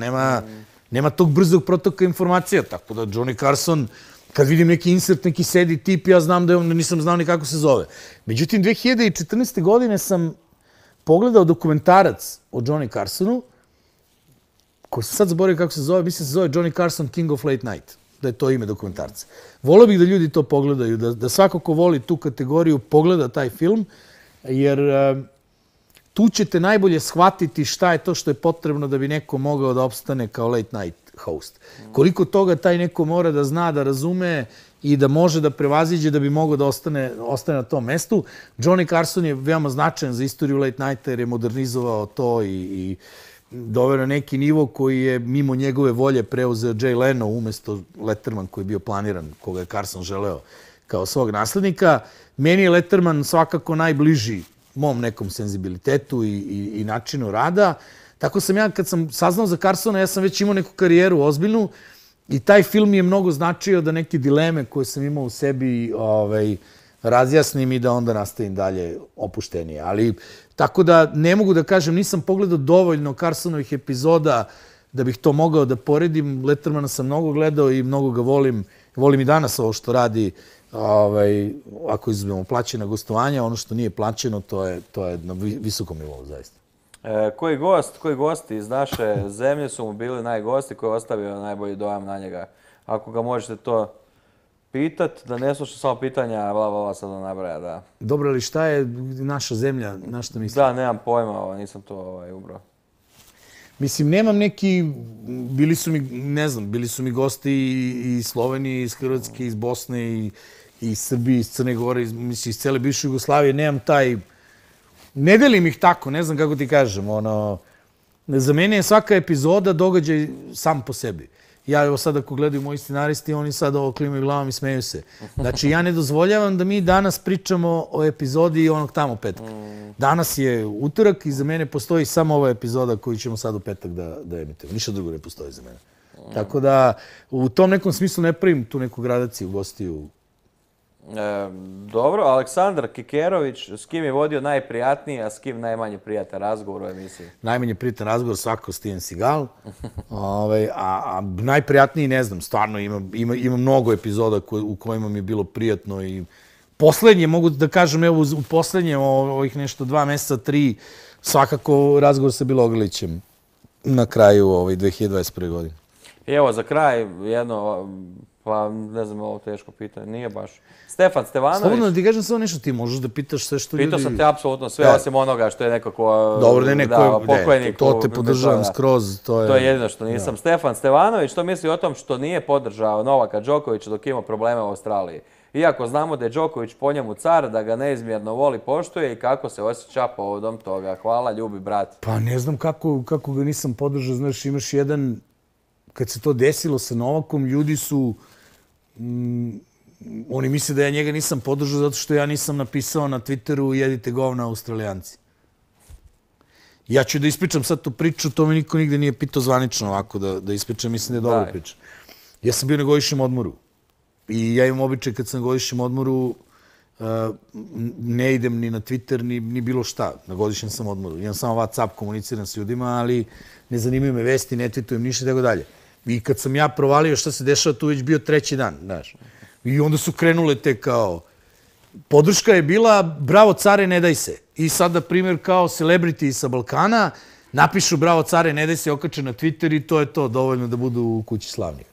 nema tog brzog protoka informacija. Tako da Johnny Carson, kad vidim neki insert, neki sedi tip, ja znam da nisam znao ni kako se zove. Međutim, 2014. godine sam pogledao dokumentarac o Johnny Carsonu, koji sam sad zaboravio kako se zove, mislim se zove Johnny Carson King of Late Night, da je to ime dokumentarca. Volio bih da ljudi to pogledaju, da svako ko voli tu kategoriju pogleda taj film, jer tu ćete najbolje shvatiti šta je to što je potrebno da bi neko mogao da opstane kao late night host. Koliko toga taj neko mora da zna, da razume i da može da prevaziđe da bi mogao da ostane na tom mestu. Johnny Carson je veoma značajan za istoriju late nighta jer je modernizovao to i doveo na neki nivo koji je mimo njegove volje preuzeo Jay Leno umjesto Letterman koji je bio planiran, koga je Carson želeo kao svog naslednika. Meni je Letterman svakako najbliži mom nekom senzibilitetu i načinu rada. Tako sam ja, kad sam saznao za Carsona, ja sam već imao neku karijeru ozbiljnu i taj film mi je mnogo značio da neke dileme koje sam imao u sebi razjasnim i da onda nastavim dalje opuštenije. Ali Tako da ne mogu da kažem, nisam pogledao dovoljno Carsonovih epizoda da bih to mogao da poredim. Lettermana sam mnogo gledao i mnogo ga volim. Volim i danas ovo što radi, ako izuzmemo plaćena gostovanja, ono što nije plaćeno, to je na visokom nivou, zaista. Koji gosti iz naše zemlje su mu bili najgosti, koji je ostavio najbolji dojam na njega? Ako ga možete to pitat, da ne sluša samo pitanja, bla, sad da nabraja, da. Dobro, ali šta je naša zemlja, na što mislim? Da, nemam pojma, nisam to ubrao. Mislim, nemam neki, bili su mi gosti iz Slovenije, iz Hrvatske, iz Bosne, iz Srbije, iz Crne Gore, iz cele bivše Jugoslavije, nemam taj, ne delim ih tako, ne znam kako ti kažem, za mene je svaka epizoda događaj sam po sebi. Ja, evo sad ako gledaju moji scenaristi, oni sad ovo klimaju glavom i smeju se. Znači, ja ne dozvoljavam da mi danas pričamo o epizodi onog tamo petka. Danas je utorak i za mene postoji samo ova epizoda koju ćemo sad u petak da emitujemo. Ništa drugo ne postoji za mene. Tako da, u tom nekom smislu ne pravim tu neku gradaciju gostiju. Dobro, Aleksandar Kikerović, s kim je vodio najprijatniji, a s kim najmanje prijatan razgovor u emisiji? Najmanje prijatan razgovor svakako Steven Seagal. A najprijatniji, ne znam, stvarno ima mnogo epizoda u kojima mi je bilo prijatno i poslednje, mogu da kažem, evo u poslednje ovih nešto 2 meseca, 3, svakako razgovor sa Bilogrlićem na kraju 2021. godine. I evo, za kraj jedno, pa ne znam, ovo teško pitanje, nije baš. Stefan Stevanović. Slobodno da ti kažem samo nešto, ti možeš da pitaš sve što ljudi... Pitao sam te apsolutno sve, osim onoga što je nekako... Dobro, pokojnik. To te podržavam skroz. To je jedino što nisam. Stefan Stevanović, što misli o tom što nije podržao Novaka Đokovića dok ima probleme u Australiji? Iako znamo da je Đoković po njemu car, da ga neizmjerno voli, poštuje i kako se osjeća povodom toga. Hvala, ljubi brat. Pa ne znam kako ga nisam podržao. Znaš, imaš jedan... Kad se to desilo sa Novakom, ljudi su... Oni misle da ja njega nisam podržao zato što ja nisam napisao na Twitteru jedite govna Australijanci. Ja ću da ispričam sad tu priču, to me niko nigde nije pitao zvanično ovako da ispričam, mislim da je dobro priča. Ja sam bio na godišnjem odmoru i ja imam običaj kad sam na godišnjem odmoru ne idem ni na Twitter ni bilo šta. Na godišnjem sam odmoru. Imam samo WhatsApp, komuniciram s ljudima, ali ne zanimaju me vesti, ne tweetujem ništa i tako dalje. I kad sam ja provalio šta se dešava, tu već bio 3. dan, znaš. I onda su krenule te kao... Podrška je bila, bravo care, ne daj se. I sad, na primjer, kao celebrity sa Balkana, napišu bravo care, ne daj se, okače na Twitter i to je to, dovoljno da budu u kući slavnih.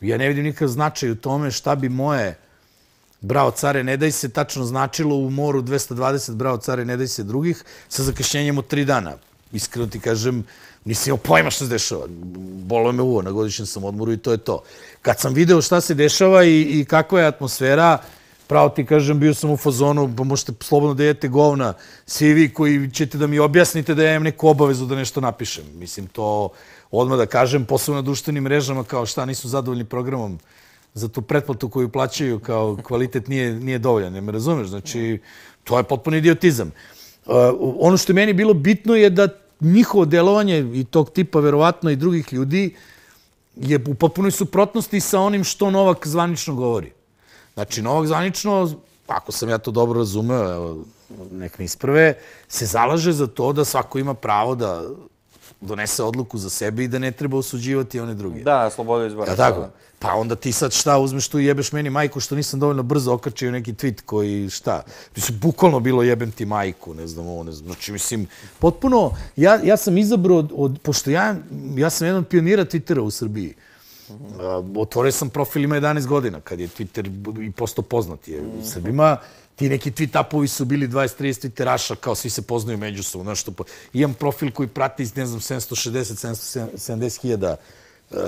Ja ne vidim nikakav značaj u tome šta bi moje bravo care, ne daj se tačno značilo u moru 220 bravo care, ne daj se drugih, sa zakašnjenjem od 3 dana. Iskreno ti kažem, nisam imao pojma šta se dešava. Bolo me uvo, na godišnjem sam odmoru i to je to. Kad sam video šta se dešava i kakva je atmosfera, pravo ti kažem, bio sam u fazonu, pa možete slobodno da jedete govna, svi vi koji ćete da mi objasnite da ja imam neku obavezu da nešto napišem. Mislim, to odmah da kažem, posebno na društvenim mrežama, kao šta nisu zadovoljni programom za tu pretplatu koju plaćaju, kao kvalitet nije dovoljan, ne me razumeš? Znači, to je potpuno idiotizam. Ono što je meni bilo bitno je da njihovo delovanje i tog tipa, verovatno i drugih ljudi, je u potpunoj suprotnosti sa onim što Novak zvanično govori. Znači, Novak zvanično, ako sam ja to dobro razumeo, nek me isprave, se zalaže za to da svako ima pravo da donese odluku za sebe i da ne treba osuđivati one druge. Da, slobodu izbora. Ja, tako. Pa onda ti sad šta uzmeš tu i jebeš meni majku što nisam dovoljno brzo okačio neki tweet koji šta. Mislim, bukvalno bilo jebem ti majku, ne znam ovo, ne znam. Znači, mislim, potpuno, ja sam izabrao, pošto ja sam jedan od pionira Twittera u Srbiji. Otvorio sam profil, ima 11 godina, kad je Twitter i postao poznat. U Srbima ti neki tweet-upovi su bili 20-30 Twitteraša, kao svi se poznaju međusobno. Imam profil koji prati, ne znam, 760-770 hiljada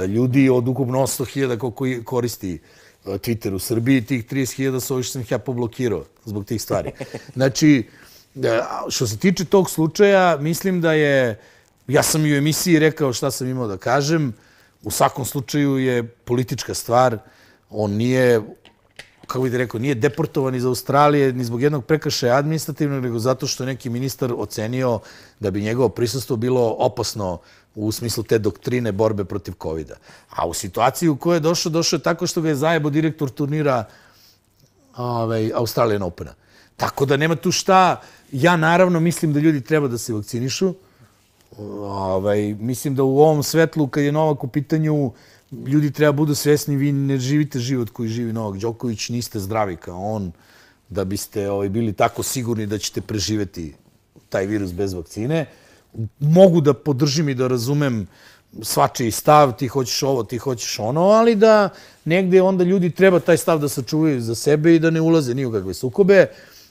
ljudi od ukupno 800 hiljada koliko koristi Twitter u Srbiji. Tih 30 hiljada su ovi što sam ih ja poblokirao zbog tih stvari. Znači, što se tiče tog slučaja, mislim da je, ja sam i u emisiji rekao šta sam imao da kažem, u svakom slučaju je politička stvar, on nije, kako bih ti rekao, nije deportovan iz Australije ni zbog jednog prekršaja administrativnog, nego zato što je neki ministar ocenio da bi njegovo prisustvo bilo opasno u smislu te doktrine borbe protiv COVID-a. A u situaciji u kojoj je došao je tako što ga je zajebo direktor turnira Australian Opena. Tako da nema tu šta, Ja naravno mislim da ljudi treba da se vakcinišu. Mislim da u ovom svetlu, kad je Novak u pitanju, ljudi treba budu svesni, vi ne živite život koji živi Novak Đoković, niste zdravi kao on, da biste bili tako sigurni da ćete preživeti taj virus bez vakcine. Mogu da podržim i da razumem svačiji stav, ti hoćeš ovo, ti hoćeš ono, ali da negde onda ljudi treba taj stav da sačuvaju za sebe i da ne ulaze ni u kakve sukobe.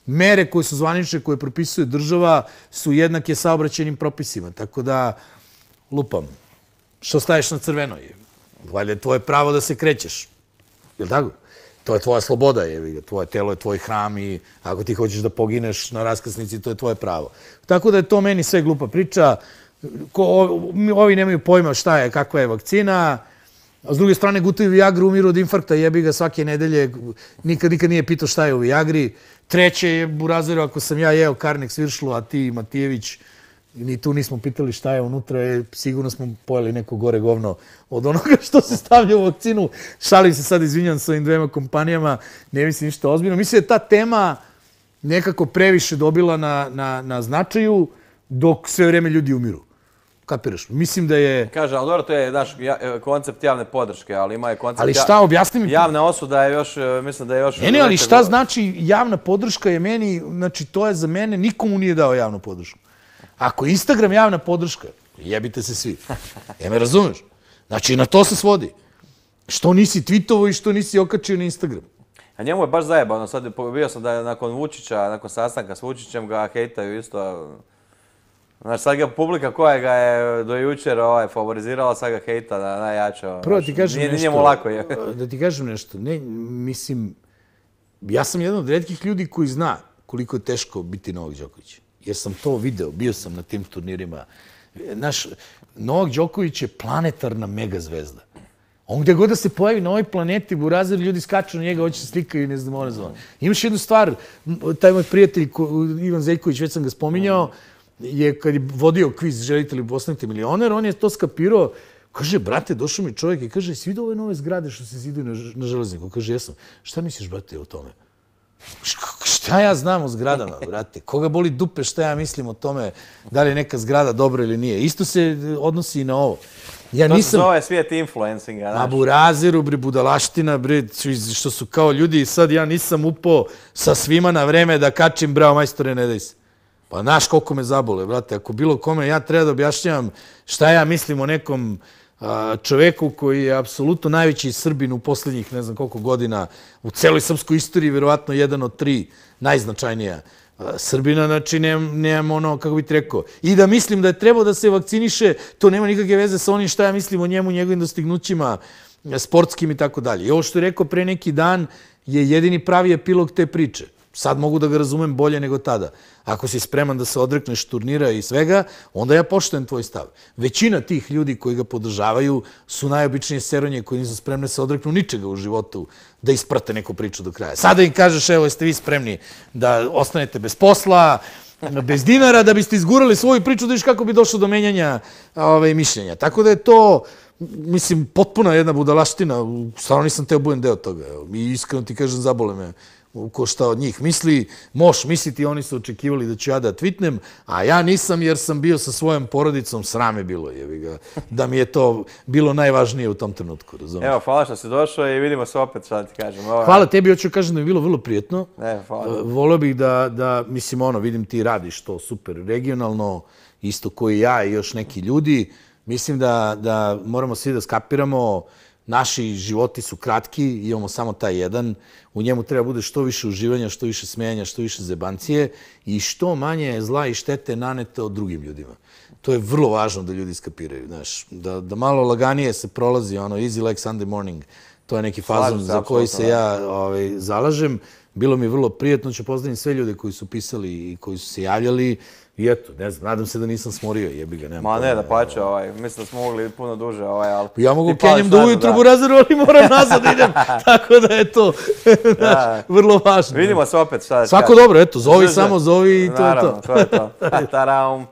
Mere koje su zvanične, koje propisuje država, su jednake saobraćajnim propisima. Tako da, lupam, što staješ na crveno je. Valjda je tvoje pravo da se krećeš. Je li tako? To je tvoja sloboda, tvoje telo je tvoj hram i ako ti hoćeš da pogineš na raskrsnici, to je tvoje pravo. Tako da je to meni sve glupa priča. Ovi nemaju pojma šta je, kakva je vakcina. A s druge strane, gutaju Viagru, umiru od infarkta, jebi ga svake nedelje. Nikad nije pitao šta je u Viagri. Treće je Burazeru, ako sam ja jeo Karnik Sviršlu, a ti Matijević, ni tu nismo pitali šta je unutra, sigurno smo pojeli neko gore govno od onoga što se stavlja u vakcinu. Šalim se sad, izvinjam s ovim dvema kompanijama, ne mislim ništa ozbiljno. Mislim da je ta tema nekako previše dobila na značaju dok sve vreme ljudi umiru. Kapiraš? Mislim da je... Kaže, ali dobro, to je naš koncept javne podrške, ali ima je koncept... Ali šta, objasni mi... Javna osuda je još, mislim da je još... Ne, ali šta znači javna podrška je meni, znači to je za mene, nikomu nije dao javnu podršku. Ako je Instagram javna podrška, jebite se svi. Me razumeš? Znači, na to se svodi. Što nisi tweetovo i što nisi okačio na Instagram. A njemu je baš zajebano. Sad bio sam da nakon Vučića, nakon sastanka s Vučićem ga hejtaju isto. Znači, sad ga publika koja ga je do jučer favorizirala, sad ga hejta najjače. Prvo da ti kažem nešto. Nije njemu lako je. Da ti kažem nešto. Ne, mislim, ja sam jedan od retkih ljudi koji zna koliko je teško biti Novak Đoković. Jer sam to video, bio sam na tim turnirima. Novak Đoković je planetarna megazvezda. On gde god da se pojavi na ovoj planeti, Burazer, ljudi skaču na njega, hoće se slikaju i ne znam, ono zvona. Imaš jednu stvar, taj moj prijatelj, Ivan Zeljković, već sam ga spominjao, je kad je vodio kviz Želite li postanete milioner, on je to skapirao, kaže, brate, došao mi čovjek i kaže, si vidio ove nove zgrade što se ziduju na železniku? Kaže, jesam. Šta misliš, brate, o tome? Šta ja znam o zgradama, brate? Koga boli dupe šta ja mislim o tome da li je neka zgrada dobra ili nije? Isto se odnosi i na ovo. To se zove svijet influencinga. A Burazeru, budalaština, što su kao ljudi i sad ja nisam upao sa svima na vreme da kačim, bravo majstore, ne daj se. Pa znaš koliko me zabole, brate. Ako bilo kome ja treba da objašnjavam šta ja mislim o nekom čoveku koji je apsolutno najveći Srbin u poslednjih ne znam koliko godina u celoj srpskoj istoriji, verovatno jedan od 3 najznačajnija Srbina, znači nemam ono, kako bih ti rekao. I da mislim da je trebao da se vakciniše, to nema nikakve veze sa onim šta ja mislim o njemu, njegovim dostignućima sportskim i tako dalje. I ovo što je rekao pre neki dan je jedini pravi epilog te priče. Sad mogu da ga razumem bolje nego tada. Ako si spreman da se odrekneš turnira i svega, onda ja poštujem tvoj stav. Većina tih ljudi koji ga podržavaju su najobičnije seronje koji nisu spremne da se odreknu ničega u životu, da isprate neku priču do kraja. Sada im kažeš, evo, jeste vi spremni da ostanete bez posla, bez dinara, da biste izgurali svoju priču, da viš kako bi došlo do menjanja mišljenja. Tako da je to, mislim, potpuna jedna budalaština. Stvarno nisam teo budem deo toga. I iskreno ti kažem, zabole me ko šta od njih misli. Možeš misliti, oni su očekivali da ću ja da tweetnem, a ja nisam jer sam bio sa svojom porodicom, srame bilo je, da mi je to bilo najvažnije u tom trenutku, razumiješ? Evo, hvala što si došao i vidimo se opet, šta da ti kažem. Hvala tebi, hoću kažem da mi je bilo vrlo prijetno. Hvala. Voleo bih da, mislim, vidim ti radiš to super regionalno, isto koji ja i još neki ljudi. Mislim da moramo svi da skapiramo. Naši životi su kratki, imamo samo taj jedan. U njemu treba bude što više uživanja, što više smejanja, što više zebancije i što manje zla i štete nanete od drugim ljudima. To je vrlo važno da ljudi skapiraju, znaš. Da malo laganije se prolazi, easy like Sunday morning. To je neki fazon za koji se ja zalažem. Bilo mi vrlo prijetno, ću pozdraviti sve ljude koji su pisali i koji su se javljali. I eto, ne znam, nadam se da nisam smorio, jebi ga, nema. Ma ne, da pače, mislim da smo mogli puno duže, ali... Ja mogu kenjem do ujutru Burazeru, ali moram nazad da idem, tako da je to vrlo važno. Vidimo se opet, šta da ti kažem. Svako dobro, eto, zovi samo, zovi i to je to. Naravno, to je to. Taraum.